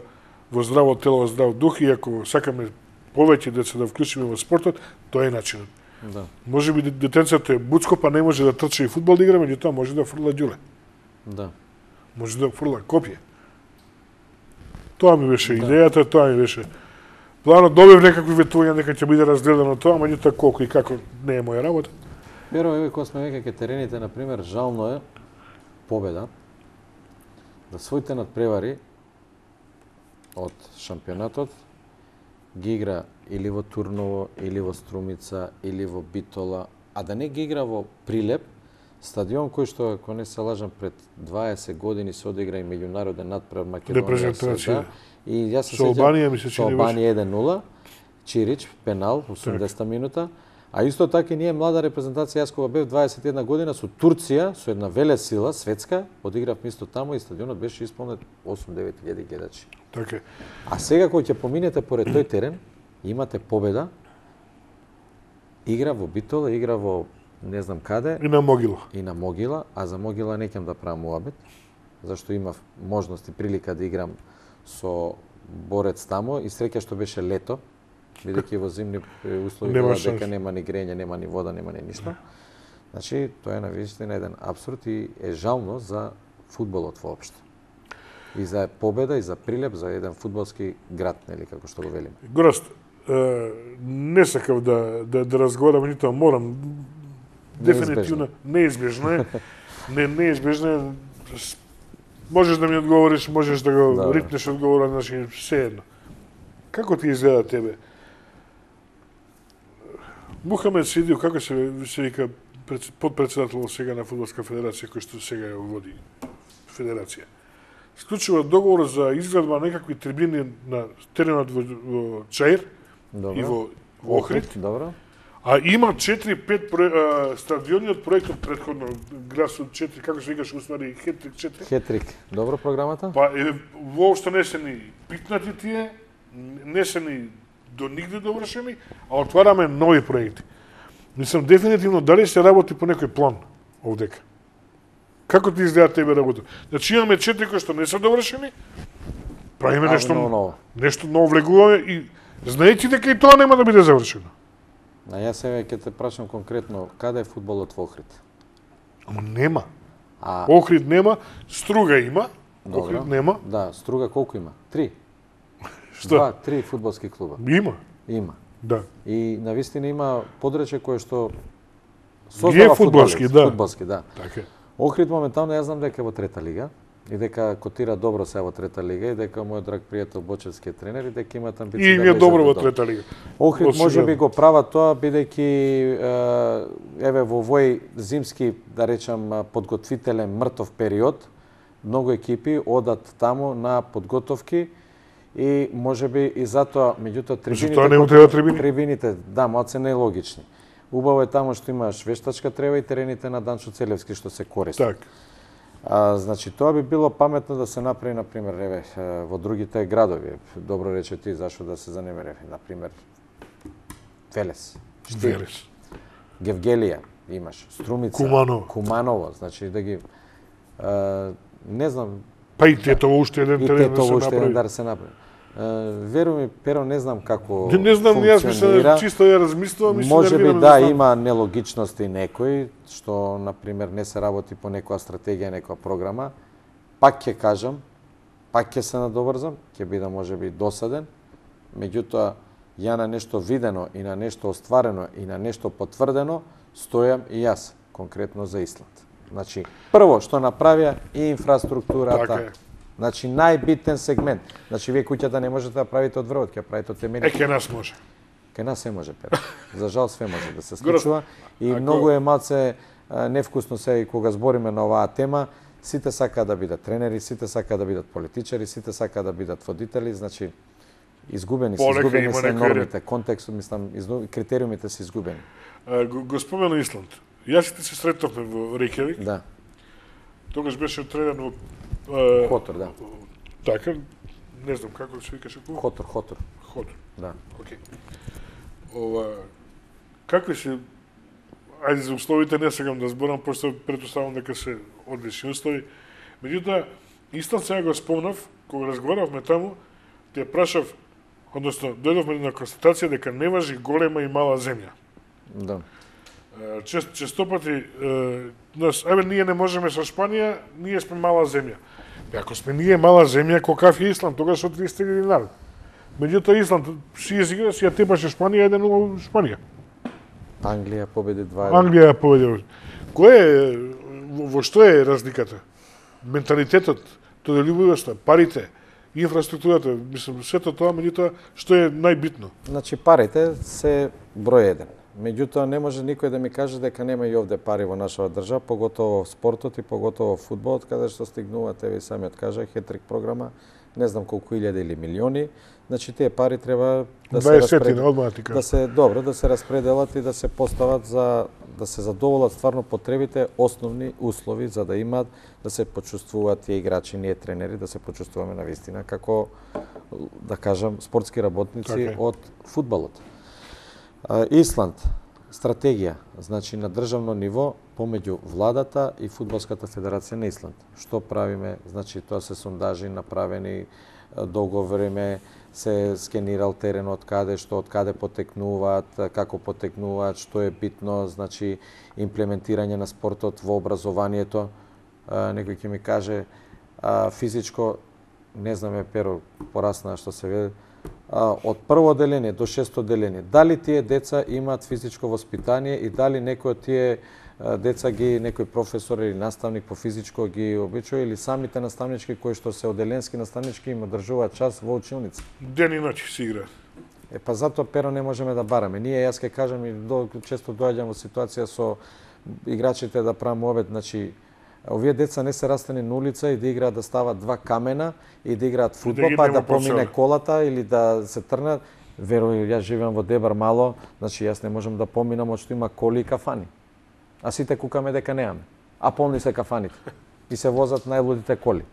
во здраво тело, здрав дух, и ако сакаме повеќе деца да вклучиме во спортот, тоа е начинот. Да. Може би детенцето е буцко, па не може да трча и фудбал да игра, меѓутоа може да фрла ѓуле. Да. Може да фрла копје. Тоа ми беше идејата, тоа ми беше планот. Добив некакви ветувања дека ќе биде разгледано тоа, меѓутоа колку и како не е моја работа. Верувам, еве кога сме веќе ке терените, на пример, жално е Победа да своите надпревари од шампионатот ги игра или во Турново, или во Струмица, или во Битола, а да не ги игра во Прилеп, стадион кој што, ако не се лажам, пред 20 години се одигра и меѓународен натпревар Македонија. Репрезентација. И јас се Со Албанија ми се со Албанија 1-0, Чирич, пенал, 80-та минута. А исто така и ние млада репрезентација, јас кога бев 21 година со Турција, со една велесила светска, одиграв место таму и стадионот беше исполнет 8-9 илјади гледачи. Така. А сега кога ќе поминете поред тој терен, имате победа, игра во Битола, игра во не знам каде. И на Могила. И на Могила, а за Могила не ќе да правам муабет, зашто имав можност и прилика да играм со Борец таму и среќа што беше лето, бидејќи во зимни услови дека нема ни грење, нема ни вода, нема ни ништо. Значи, тоа е навистина еден апсурд и е жално за фудбалот воопшто. И за победа, и за Прилеп, за еден фудбалски град, нели, како што го велиме. Гораст, не сакав да разговарам, нито морам. Дефинитивно неизбежно е. Неизбежно е. Можеш да ми одговориш, можеш да го рипнеш одговора, значи се едно. Како ти изгледа тебе? Мухамед Сидио, како се вика подпредседател сега на Фудбалска федерација, кој што сега ја води федерација. Склучува договор за изградба некакви трибини на теренот во Чаир и во Охрид. Добро. А има 4-5 стадиони од проектот претходно, Грасот 4, како се викаш уствари, Хетрик 4. Хетрик. Добро програмата? Па воопшто не се ни питнати тие, не се ни до нигде довршени, а отвараме нови проекти. Мислам, дефинитивно, дали се работи по некој план овдека? Како ти изгледа тебе работа? Значи имаме 4 кои што не се довршени, правиме нешто ново влегуваме и знаејќи дека и тоа нема да биде завршено. А јас сега ќе те прашам конкретно, каде е фудбалот во Охрид? Ама нема. Охрид нема, Струга има, Охрид нема. Да, Струга колку има? 3. Што? 3 фудбалски клуба. Има. Има. Да. И навистина има подрече кое што создава фудбалски, да. Фудбалски, да. Така. Охрид моментално јас знам дека е во трета лига и дека котира добро се во трета лига и дека мојот драг пријател Бочевски е тренер и дека имат амбиции да влезат добро во трета лига. Охрид можеби го прават тоа бидејќи еве во овој зимски, да речам, подготвителен мртов период, многу екипи одат таму на подготовки и можеби и затоа, меѓутоа трибините, да, малце нелогични. Убаво е таму што имаш вештачка трева и терените на Данчо Целевски што се користат. Так. Значи тоа би било паметно да се направи, на пример, еве во другите градови. Добро рече ти зашто да се занемере, на пример Велес, Штир, Гевгелија имаш, Струмица, Куманово, значи да ги не знам. Па и Тетово уште еден терен да се направи. Веру ми, Перо, не знам како не знам, јас мислам, чисто ја размислувам и може би да има нелогичности некои, што, например, не се работи по некоја стратегија, некоја програма. Пак ќе кажам, пак ќе се надоврзам, ќе биде можеби досаден, меѓутоа, ја на нешто видено и на нешто остварено и на нешто потврдено, стојам и јас, конкретно за Исланд. Значи, прво што направија и инфраструктурата. Значи, најбитен сегмент. Значи, вие куќата не можете да правите од врвот, ќе правите од темени. Ке нас може. Ке нас се може, Петро. За жал, све може да се случува. И многу е малце невкусно се кога збориме на оваа тема. Сите сакаат да бидат тренери, сите сакаат да бидат политичари, сите сакаат да бидат водители. Значи, изгубени се нормите, контекстот, мислам, критериумите се изгубени. Го спомена Исланд. Јас и ти се сретовме во Рејкјавик. Да. Тогаш беше тренер во Хотор, да. Така, не знам како се викаше клуб. Хотор. Да. Океј. Какви се, ајде за условите не сакам да зборам, пошто претпоставам дека се одлични услови. Меѓутоа, Исланд сега го спомнав, кога разговаравме таму, те прашав, односно, дојдовме на констатација дека не важи голема и мала земја. Да. Честопати, ние не можеме со Шпанија, ние сме мала земја. Ако сме ние мала земја, каков е Исланд, тогаш од 300.000 народ. Меѓутоа Исланд си изигра, си ја тепаше Шпанија 1-0 Шпанија. Англија победи 2-1. Англија победи. Кој е, во што е разликата? Менталитетот, тодолюбивоста, парите, инфраструктурата, мислам, сето тоа, меѓутоа, што е најбитно? Значи, парите се број 1. Меѓутоа, не може никој да ми каже дека нема и овде пари во нашава држава, поготово во спортот и поготово во фудбалот, каде што стигнуваат, еве и самиот кажа, хетрик програма, не знам колку илјади или милиони. Значи тие пари треба да се да се распределат и да се постават за да се задоволат стварно потребите, основни услови за да имаат да се почувствуваат тие играчи, ние тренери, да се почувствуваме навистина како да кажам спортски работници од фудбалот. Исланд, стратегија, значи на државно ниво помеѓу владата и Фудбалската федерација на Исланд. Што правиме? Значи тоа се сондажи направени долго време, се скенирал теренот каде што од каде потекнуваат, како потекнуваат, што е битно, значи имплементирање на спортот во образованието. Некој ќе ми каже физичко, не знаме Перо порасна што се вели, од прво деление до шесто деление. Дали тие деца имаат физичко воспитание и дали некој од тие деца ги некој професор или наставник по физичко ги обичува или самите наставнички кои што се оделенски наставнички им одржуваат час во училница. Ден и ноќ си играат. Па затоа Перо не можеме да бараме. Ние јас ќе кажам и често доаѓам во ситуација со играчите да правам обед, значи овие деца не се растени на улица и да играат да стават два камена и да играат фудбал, па да помине колата или да се трнат. Верој, јас живеам во Дебар мало, значи јас не можам да поминам од што има коли и кафани. А сите кукаме дека немаме. А полни се кафаните. И се возат најлудите коли.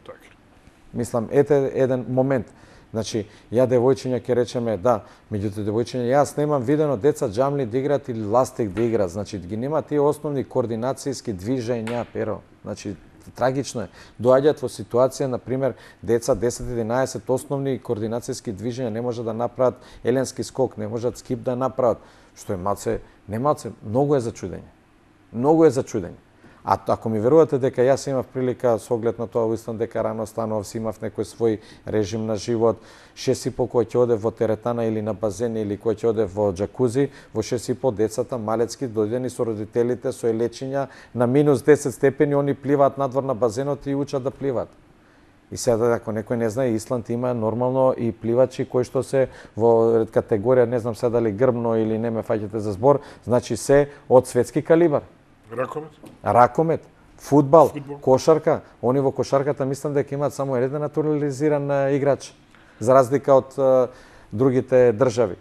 Мислам, ете еден момент. Значи, ја девојчиња ќе речеме, да, меѓуто девојчиња, јас немам видено деца джамли да играат или ластик да играат. Значи, ги нема тие основни координацијски движења, Перо. Значи, трагично е. Доаѓаат во ситуација, на пример, деца 10-11 основни координацијски движења не може да направат еленски скок, не можат скип да направат, што е малце, не малце, многу е зачудење. Многу е зачудење. А ако ми верувате дека јас имав прилика со оглед на тоа во Исланд дека рано станував, си имав некој свој режим на живот, 6,5 кој ќе оде во теретана или на базен или кој ќе оде во џакузи, во 6,5 децата малецки дојдени со родителите со лечења на минус 10 степени, они пливаат надвор на базенот и учат да пливаат. И сега ако некој не знае, Исланд има нормално и пливачи кои што се во категорија, не знам сега дали грбно или не ме фаќате за збор, значи се од светски калибар. Ракомет, фудбал, кошарка. Они во кошарката мислам дека имаат само еден натурализиран играч, за разлика од другите држави.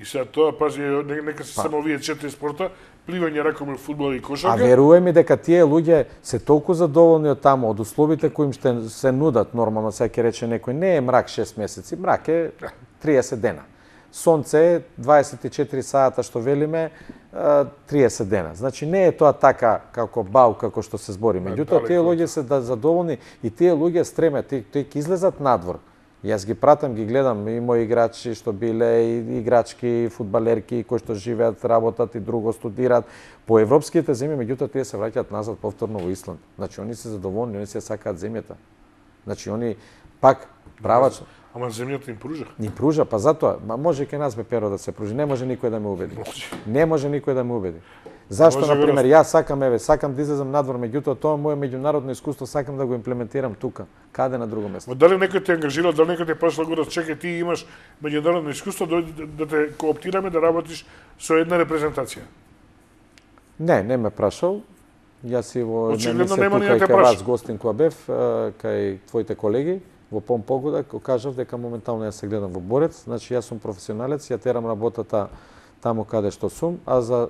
И сега тоа, пази, нека се само овие 4 спорта, пливање, ракомет, фудбал и кошарка. А веруваме ми дека тие луѓе се толку задоволни од таму, од условите кои им ще се нудат, нормално сега ќе рече некој, не е мрак 6 месеци, мрак е 30 дена. Сонце е 24 сата што велиме, 30 дена. Значи не е тоа така како бау како што се збори. Меѓутоа тие луѓе се задоволни и тие луѓе стремат, тие ќе излезат надвор. Јас ги пратам, ги гледам и мои играчи што биле и играчки, и фудбалерки кои што живеат, работат и друго студираат по европските земји, меѓутоа тие се враќаат назад повторно во Исланд. Значи они се задоволни, они се сакаат земјата. Значи они пак правачно. Ама земјата им пружа. Ни пружа, па затоа, може ке нас бе Перо да се пружи, не може никој да ме убеди. Не може никој да ме убеди. Зашто, на пример, јас сакам да излезам надвор, меѓутоа тоа мое меѓународно искуство сакам да го имплементирам тука, каде на друго место. Дали некој те ангажирал, дали некој те прашал го да чекај, ти имаш меѓународно искуство, да те кооптираме да работиш со една репрезентација? Не ме прашал. Јас и во тука и кај вас гостин која бев, кај твоите колеги, во Помпогуда, кажав дека моментално јас се гледам во Борец, значи јас сум професионалец, ја терам работата таму каде што сум, а за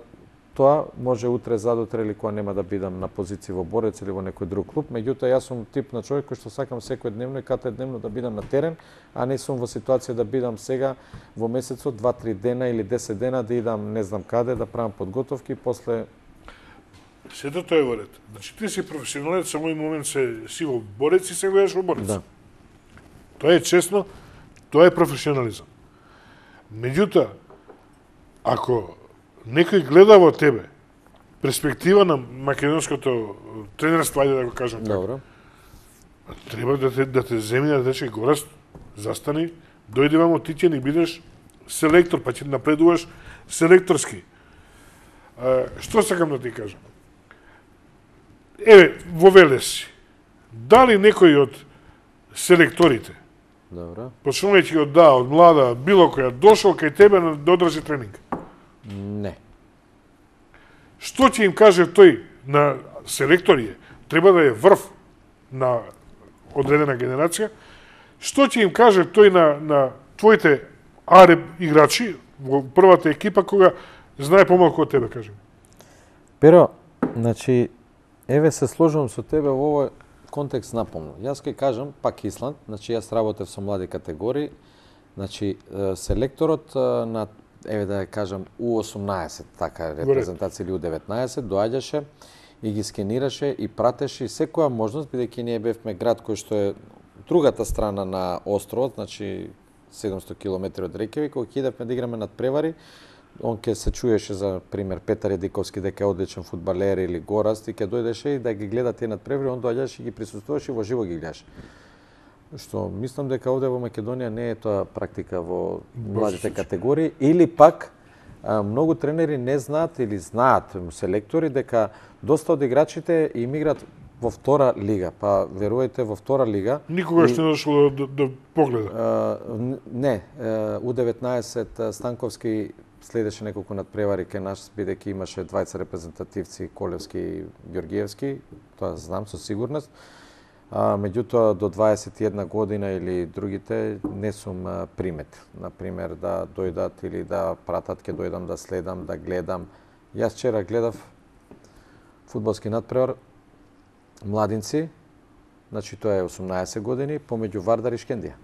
тоа може утре, задутре или кога нема да бидам на позиција во Борец или во некој друг клуб, меѓутоа јас сум тип на човек кој што сакам секојдневно и катедневно да бидам на терен, а не сум во ситуација да бидам сега во месецот 2-3 дена или 10 дена да идам не знам каде да правам подготовки, после сето тоа е во ред. Значи ти си професионалец, со мој момент си во Борец и се гледаш во Борец. Да. Тоа е честно, тоа е професионализам. Меѓутоа, ако некој гледа во тебе перспектива на македонското тренерство, ајде да го кажам така, треба да те земји да рече Гораст, застани, дојди вамо, ти ќе ни бидеш селектор, па ќе напредуваш селекторски. Што сакам да ти кажам? Еве, во Велес си. Дали некој од селекторите, почнувајќи од млада, било која, дошол кај тебе да одржи тренинг? Не. Што ќе им каже тој на селекторија? Треба да е врв на одредена генерација. Што ќе им каже тој на твоите ареб играчи во првата екипа кога знае помалку од тебе, кажем? Pero, значи, еве се сложувам со тебе во овој контекст напомно. Јас ќе кажам, пак Исланд, значи јас работев со млади категории, значи селекторот на, еве да кажам, U18, така репрезентација или U19, доаѓаше и ги скенираше и пратеше секоја можност, бидејќи ние бевме град кој што е другата страна на островот, значи 700 км од Рекјавик, кога идевме да играме над превари, он ќе се чуеше за пример Петар Едиковски дека е одличен фудбалер или Гораст и ќе дојдеше и да ги гледа тие над превари, он доаѓаше и ги присуствуваше и во живо ги гледаше. Што мислам дека овде во Македонија не е тоа практика во младите категории или пак многу тренери не знаат или знаат селектори дека доста од играчите им играат во втора лига, па верувајте во втора лига. Никогаш не дошло да погледа. Не, U19 Станковски следеше неколку надпревари кај нас, бидејќи имаше двајца репрезентативци, Колевски и Ѓоргиевски, тоа знам со сигурност. Меѓутоа, до 21 година или другите не сум примет. Например, да дојдат или да пратат, ќе дојдам да следам, да гледам. Јас вчера гледав фудбалски надпревар, младинци, значи тоа е 18 години, помеѓу Вардар и Шкендија.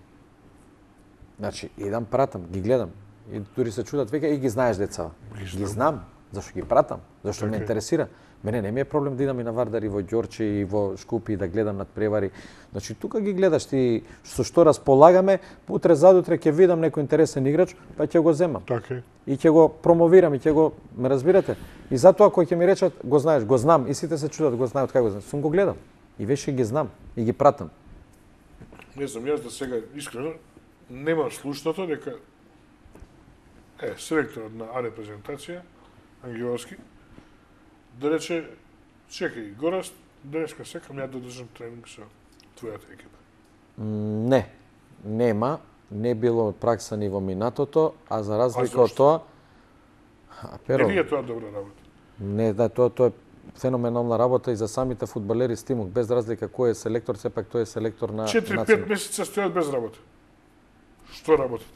Значи, идам, пратам, ги гледам. И дури се чудат, века, и ги знаеш децава. Ги знам, зашто ги пратам, зашто ме интересира. Мене не ми е проблем да идам и на Вардар и во Ѓорче и во Шкупи и да гледам над превари. Значи, тука ги гледаш ти со што располагаме, утре задутре ќе видам некој интересен играч, па ќе го земам. Така е. И ќе го промовирам и ќе го, ме разбирате? И затоа кој ќе ми речат, го знаеш, го знам, и сите се чудат, го знаат, како го знам. Сум го гледал. И веше ги знам и ги пратам. Не знам, јас да сега искрено немам слушното дека селекторот на А репрезентација Ангеловски да рече, чекај, Гораст, денеска секам ја да држам тренинг со твојата екипа. Не, нема, не било пракса ни во минатото, а за разлика од тоа, Не ви е тоа добра работа? Не, да, тоа е феноменална работа и за самите фудбалери стимул, без разлика кој е селектор, сепак тој е селектор на 4-5 месеца стојат без работа. Што работат?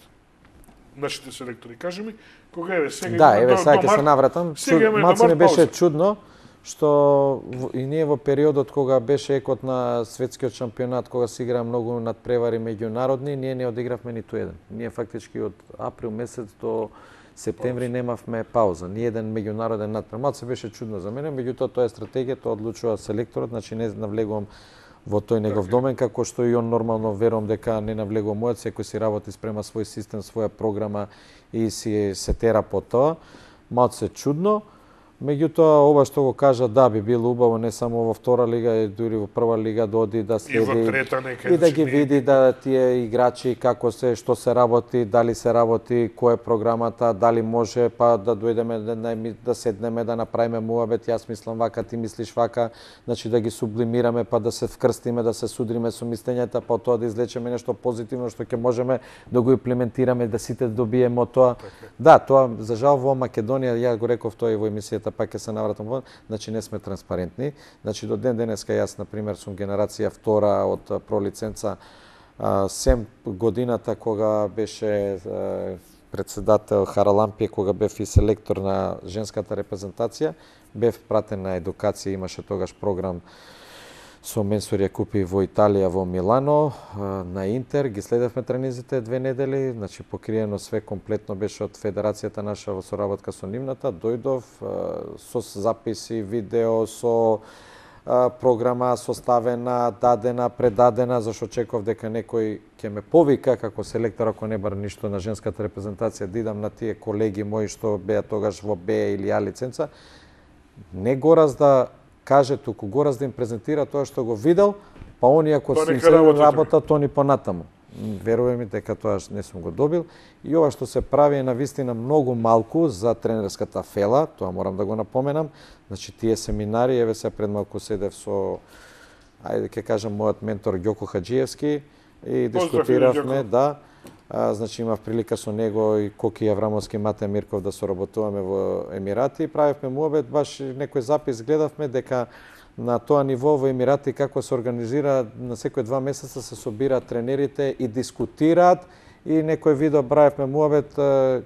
Нашите селектори, кажи ми, кога еве сега да, еве сега ќе се навратам. Малце ми беше чудно што и ние во периодот кога беше екот на светскиот шампионат, кога се игра многу надпревари меѓународни, ние не одигравме ниту еден. Ние фактички од април месец до септември немавме пауза, ни еден меѓународен надпревар. Малце беше чудно за мене, меѓутоа тоа е стратегија, тоа одлучува селекторот, значи не навлегувам во тој негов домен, како што и он нормално верувам дека не навлегува мојот, секој си работи, спрема свој систем, своја програма и си се тера по тоа. Малце чудно, меѓутоа ова што го кажа, да, би било убаво не само во втора лига, и дури во прва лига да оди да следи и да ги види да тие играчи како се, што се работи, дали се работи, која е програмата, дали може па да дојдеме да седнеме да направиме муабет, јас мислам вака, ти мислиш вака, значи да ги сублимираме па да се вкрстиме, да се судриме со мислењата, па тоа да излечеме нешто позитивно што ќе можеме да го имплементираме, да сите добиеме од тоа. Да, тоа за жал во Македонија, ја го реков тоа и во емисијата, пак ќе се навратам во, значи не сме транспарентни. Значи до ден денеска јас на пример сум генерација втора од пролиценца, сем годината кога беше председател Харалампие, кога бев и селектор на женската репрезентација, бев пратен на едукација, имаше тогаш програм со менсори ја купи во Италија, во Милано, на Интер, ги следевме тренизите 2 недели, значи покриено све комплетно беше од федерацијата наша во соработка со нивната, дојдов со записи, видео, со програма составена, дадена, предадена, зашто очекував дека некој ќе ме повика како селектор, ако не бар ништо на женската репрезентација, да идам на тие колеги мои што беа тогаш во Б или А лиценца, не Гораз да каже туку, Гораз да им презентира тоа што го видел, па они ако се работа, то ни понатаму. Верувај ми дека тоа не сум го добил. И ова што се прави е навистина многу малку за тренерската фела, тоа морам да го напоменам. Значи тие семинари, еве се пред малку седев со, ајде ќе кажам, мојот ментор Ѓоко Хаџиевски и дискутиравме, да, значи имав прилика со него и Коки Аврамовски, Мате Мирков да соработуваме во Емирати и правевме муабет, баш некој запис гледавме дека на тоа ниво во Емирати како се организира на секој 2 месеца се собираат тренерите и дискутираат и некој видео правевме муабет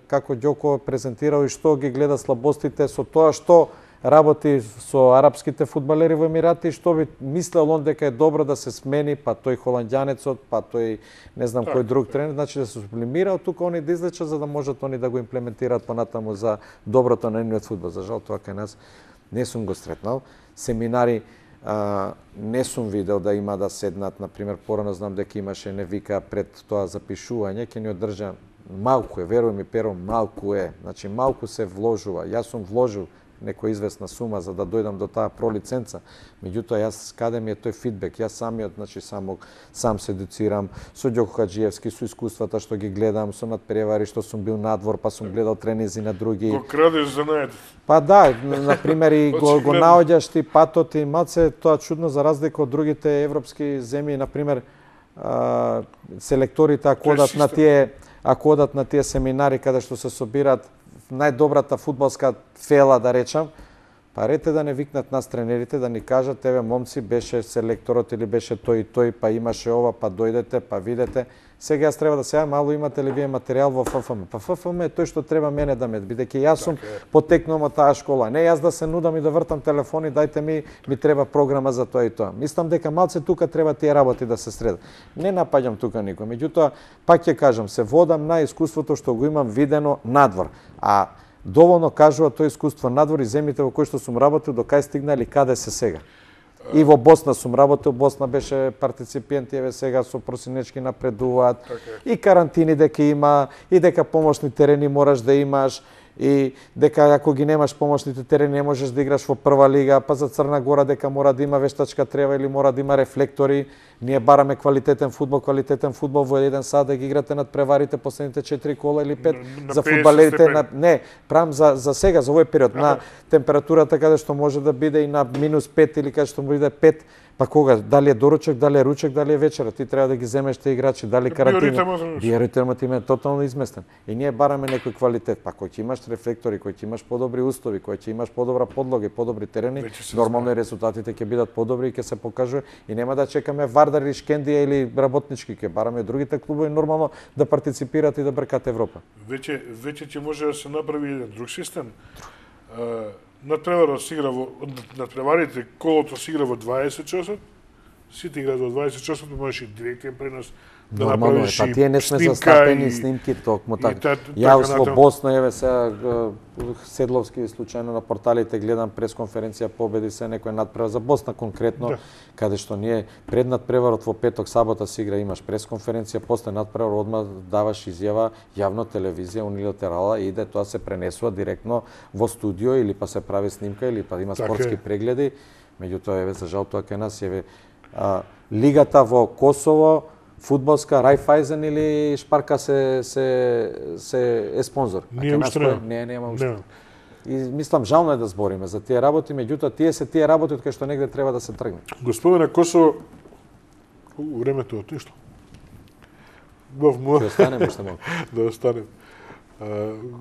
како Ѓоко презентирал и што ги гледа слабостите со тоа што работи со арапските фудбалери во Емирати, што би мислел он дека е добро да се смени, па тој холандјанецот, па тој не знам кој друг тренер, значи да се сублимира, тука они да излечат за да можат они да го имплементираат понатаму за доброто на нивниот фудбал. За жал тоа кај нас не сум го сретнал. Семинари не сум видел да има да седнат, например, порано знам дека имаше не вика пред тоа запишување, ќе ни одржа малку е, веруј ми Перо, малку е. Значи малку се вложува. Јас сум вложил некоја известна сума за да дојдам до таа пролиценца. Меѓутоа јас каде ми е тој фидбек? Јас самиот, значи сам се едуцирам со Ѓоко Хаџиевски, со искуствата што ги гледам, со надпревари што сум бил надвор, па сум гледал тренизи на други. Го крадеш за најдов. Па да, на пример и го наоѓаш ти патот и малце тоа чудно за разлика од другите европски земји, на пример селекторите ако одат на тие семинари каде што се собираат најдобрата фудбалска фела, да речам, па рете да не викнат нас тренерите, да ни кажат, еве момци, беше селекторот или беше тој и тој, па имаше ова, па дојдете, па видете. Сега јас треба да се јавам, мало имате ли вие материјал во ФФМ? Па ФФМ е тој што треба мене да ме, бидејќи јас сум потекнал од таа школа. Не јас да се нудам и да вртам телефони, дајте ми треба програма за тоа и тоа. Мислам дека малце тука треба тие работи да се средат. Не напаѓам тука никој, меѓутоа пак ќе кажам, се водам на искуството што го имам видено надвор. А доволно кажува тоа искуство надвор и земјите во кои што сум работил, до кај стигнали, каде се сега. И во Босна сум работил, Босна беше партиципент, еве сега со просинечки напредуваат. И карантини дека има, и дека помошни терени мораш да имаш, и дека ако ги немаш помошните терени не можеш да играш во прва лига, па за Црна Гора дека мора да има вештачка трева или мора да има рефлектори. Ние бараме квалитетен фудбал во еден сад да ги играте над преварите последните 4 кола или 5 за фудбалерите не, правам за сега, за овој период на температурата каде што може да биде и на -5 или каде што биде 5. Па кога? Дали е доручек, дали е ручек, дали е вечера? Ти треба да ги земеш те играчи, дали карантина. Биоритмот им е тотално изместен. И ние бараме некој квалитет. Па кој ќе имаш рефлектори, кој ќе имаш подобри услови, кој ќе имаш подобра подлога и подобри терени, нормално и резултатите ќе бидат подобри и ќе се покажува и нема да чекаме Вардар или Шкендија или работнички, ќе бараме другите клубови нормално да партиципираат и да бркат Европа. Веќе ќе може да се направи еден друг систем. Надпреварот се игра во надпреварите, колото се игра во 20 часот, сите играат во 20 часот, можеш и директен пренос да направиш па тие не сме застапени снимки токму така. Јас во Босна еве сега Седловски случајно на порталите гледам пресконференција победи се некој надпревар за Босна конкретно, каде што ние пред надпреварот во петок сабота се игра имаш пресконференција, после надпревар одма даваш изјава јавно телевизија унилатерала и иде тоа се пренесува директно во студио или па се прави снимка или па има спортски прегледи. Меѓутоа еве за жал тоа кај нас еве лигата во Косово фудбалска Рајфајзен или Шпарка се е спонзор. Ние уште нема уште. И мислам жално е да збориме за тие работи, меѓутоа тие се тие работи од кај што негде треба да се тргне. Го спомена Косово, времето отишло. Ќе останеме уште малку. Да останем.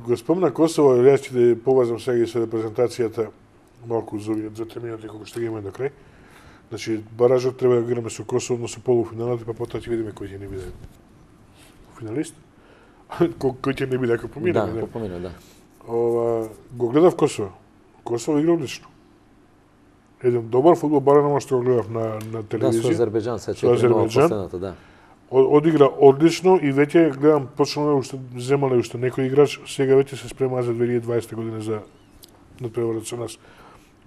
Го спомена Косово, јас ќе да повезам сега и со репрезентацијата малку за терминот колку што ги имаме до крај. Значи, баражот треба да играме со Косово, но со полуфиналот, па потоа ќе видиме кој ќе не биде финалист. Кој ќе не биде ако помине. Да, помине, да. Го гледав Косово. Косово игра одлично. Еден добар фудбал, барано што го гледав на телевизија. Да, со Азербејџан, се 4-0 последната, да. Одигра одлично и веќе гледам почнало уште земале уште некој играч, сега веќе се спрема за 2020 година за надпреварот со нас.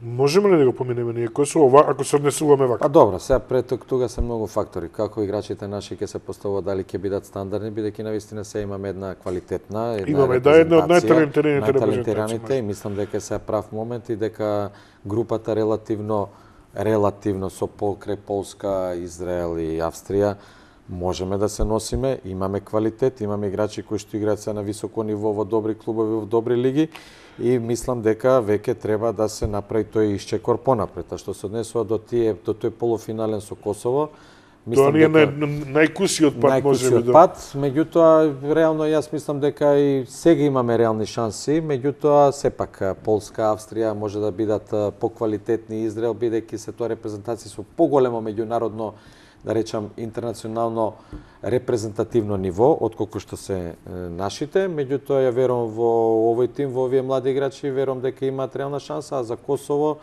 Можеме ли да го поминеме ние Косово ако се однесуваме вака? А добро, сега пред тука се многу фактори. Како играчите наши ќе се поставуваат, дали ќе бидат стандардни, бидејќи навистина се имаме една квалитетна, имаме една од најталентираните и мислам дека се прав момент и дека групата релативно со покрај Полска, Израел и Австрија можеме да се носиме, имаме квалитет, имаме играчи кои што играат се на високо ниво во добри клубови, во добри лиги и мислам дека веќе треба да се направи тој исчекор понапред. А што се однесува до тој полуфинален со Косово, Тоа не е најкусиот пат, може би. Најкусиот пат, меѓутоа, реално јас мислам дека и сега имаме реални шанси, меѓутоа, сепак Полска, Австрија може да бидат поквалитетни, Израел, бидејќи се тоа репрезентации со поголемо меѓународно, да речам, интернационално репрезентативно ниво, отколку што се нашите, меѓутоа ја верувам во овој тим, во овие млади играчи, верувам дека имаат реална шанса, а за Косово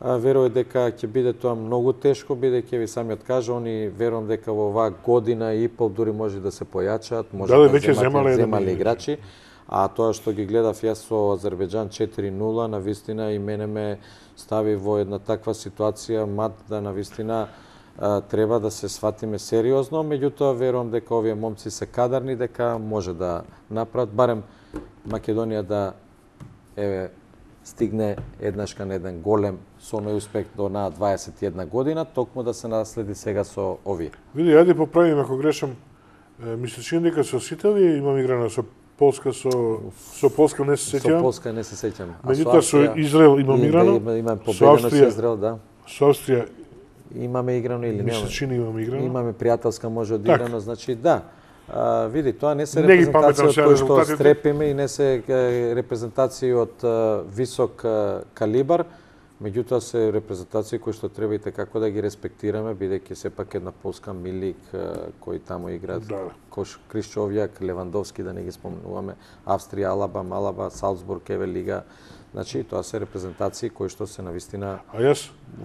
верувам дека ќе биде тоа многу тешко, бидејќи ви самиот кажа, они верувам дека во оваа година и пол дури може да се појачаат, може да земале играчи, а тоа што ги гледав јас со Азербејџан 4-0, навистина и мене ме стави во една таква ситуација, мад да навистина треба да се сватиме сериозно, меѓутоа верувам дека овие момци се кадарни, дека може да направат, барем Македонија да стигне еднаш кон еден голем со неуспех до на 21 година, токму да се наследи сега со овие. Види, ајде поправим ако грешам. Мислиш дека со сите овие имам играно со Полска, со Полска не се сеќавам. Со Полска не се сеќавам. Меѓутоа со Израел имам играно. Имаме победено со Израел, да. Со Австрија имаме играно или немаме? Мислиш имаме играно. Имаме пријателска може одиграно, значи да. Види, тоа не се репрезентации од кои што стрепиме и не се репрезентации од висок калибар, меѓутоа се репрезентации кои што треба и како да ги респектираме, бидејќи сепак една Полска, Милик, кои таму играат, Кришчовјак, Левандовски, да не ги спомнуваме, Австрија, Алаба, Малаба, Салцбург, Еве Лига. Значи, тоа се репрезентации кои што се навистина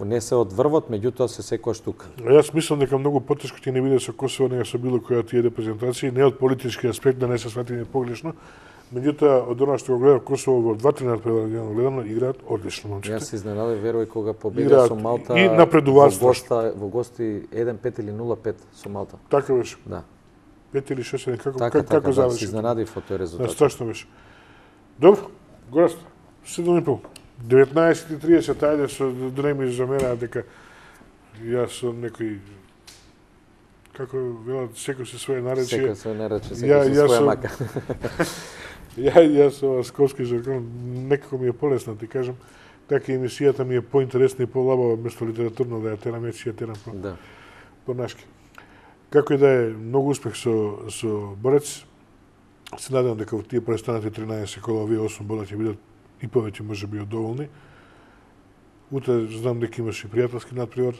не се од врвот, меѓутоа се секојаш тука. А јас мислам дека многу потешко ќе не биде со Косово нега со било која тие репрезентации, не од политички аспект, да не се сватиме погрешно, меѓутоа од она што го гледав Косово во 2-3 надпреварено гледано играат одлично момчета. Јас се изненадав, верувај, кога победија со Малта и напредуваат во гости 1-5 или 0-5 со Малта. Така беше. Да. 5 или 6, како заврши? Се изненадив од тој резултат. Страшно беше. Добро, Гораст. 7,5. 19:30, ајде со дреми за мене, дека јас со некој, како велат, секој се своје наречие. Секој се нарече, секој се своја мака. Јас со скопски жаргон, некако ми е полесно, ти кажам, така емисијата ми е поинтересна и полабава, место литературно да ја терам, ја терам по-нашки. Како и да е, многу успех со Борец. Се надевам дека во тие престанати 13 кола, овие 8 бола ќе бидат и повеќе може би доволни. Утре знам дека имаш и пријателски надпревар.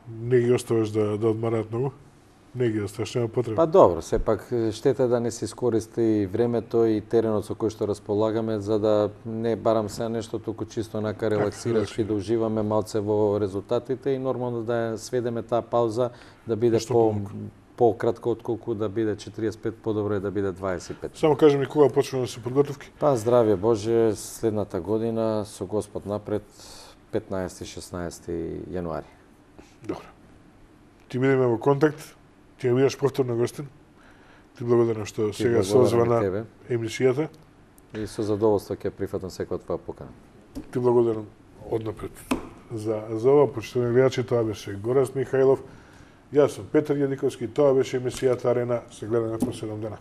Не ги оставаш да одмараат многу. Не ги оставаш, нема потреба. Па добро, сепак штета да не се искористи времето и теренот со кој што располагаме, за да не барам се нешто, туку чисто онака релаксираш и да уживаме малце во резултатите и нормално да сведеме таа пауза да биде по-кратко отколку да биде 45, подобро е да биде 25. Само кажи ми кога почнува да се подготовки? Па здравје Боже, следната година со Господ напред 15-16 јануари. Добро. Ти бидеме во контакт, ти ја бидеш повторно гостин. Ти благодарам што сега се озва на емисијата. И со задоволство ќе прифатам секоја твоја покана. Ти благодарам однапред за ова, почитувани гледачи, тоа беше Гораст Михајлов. Јас сум Петар Јадиковски, тоа беше емисијата Арена, се гледаме по 7 дена.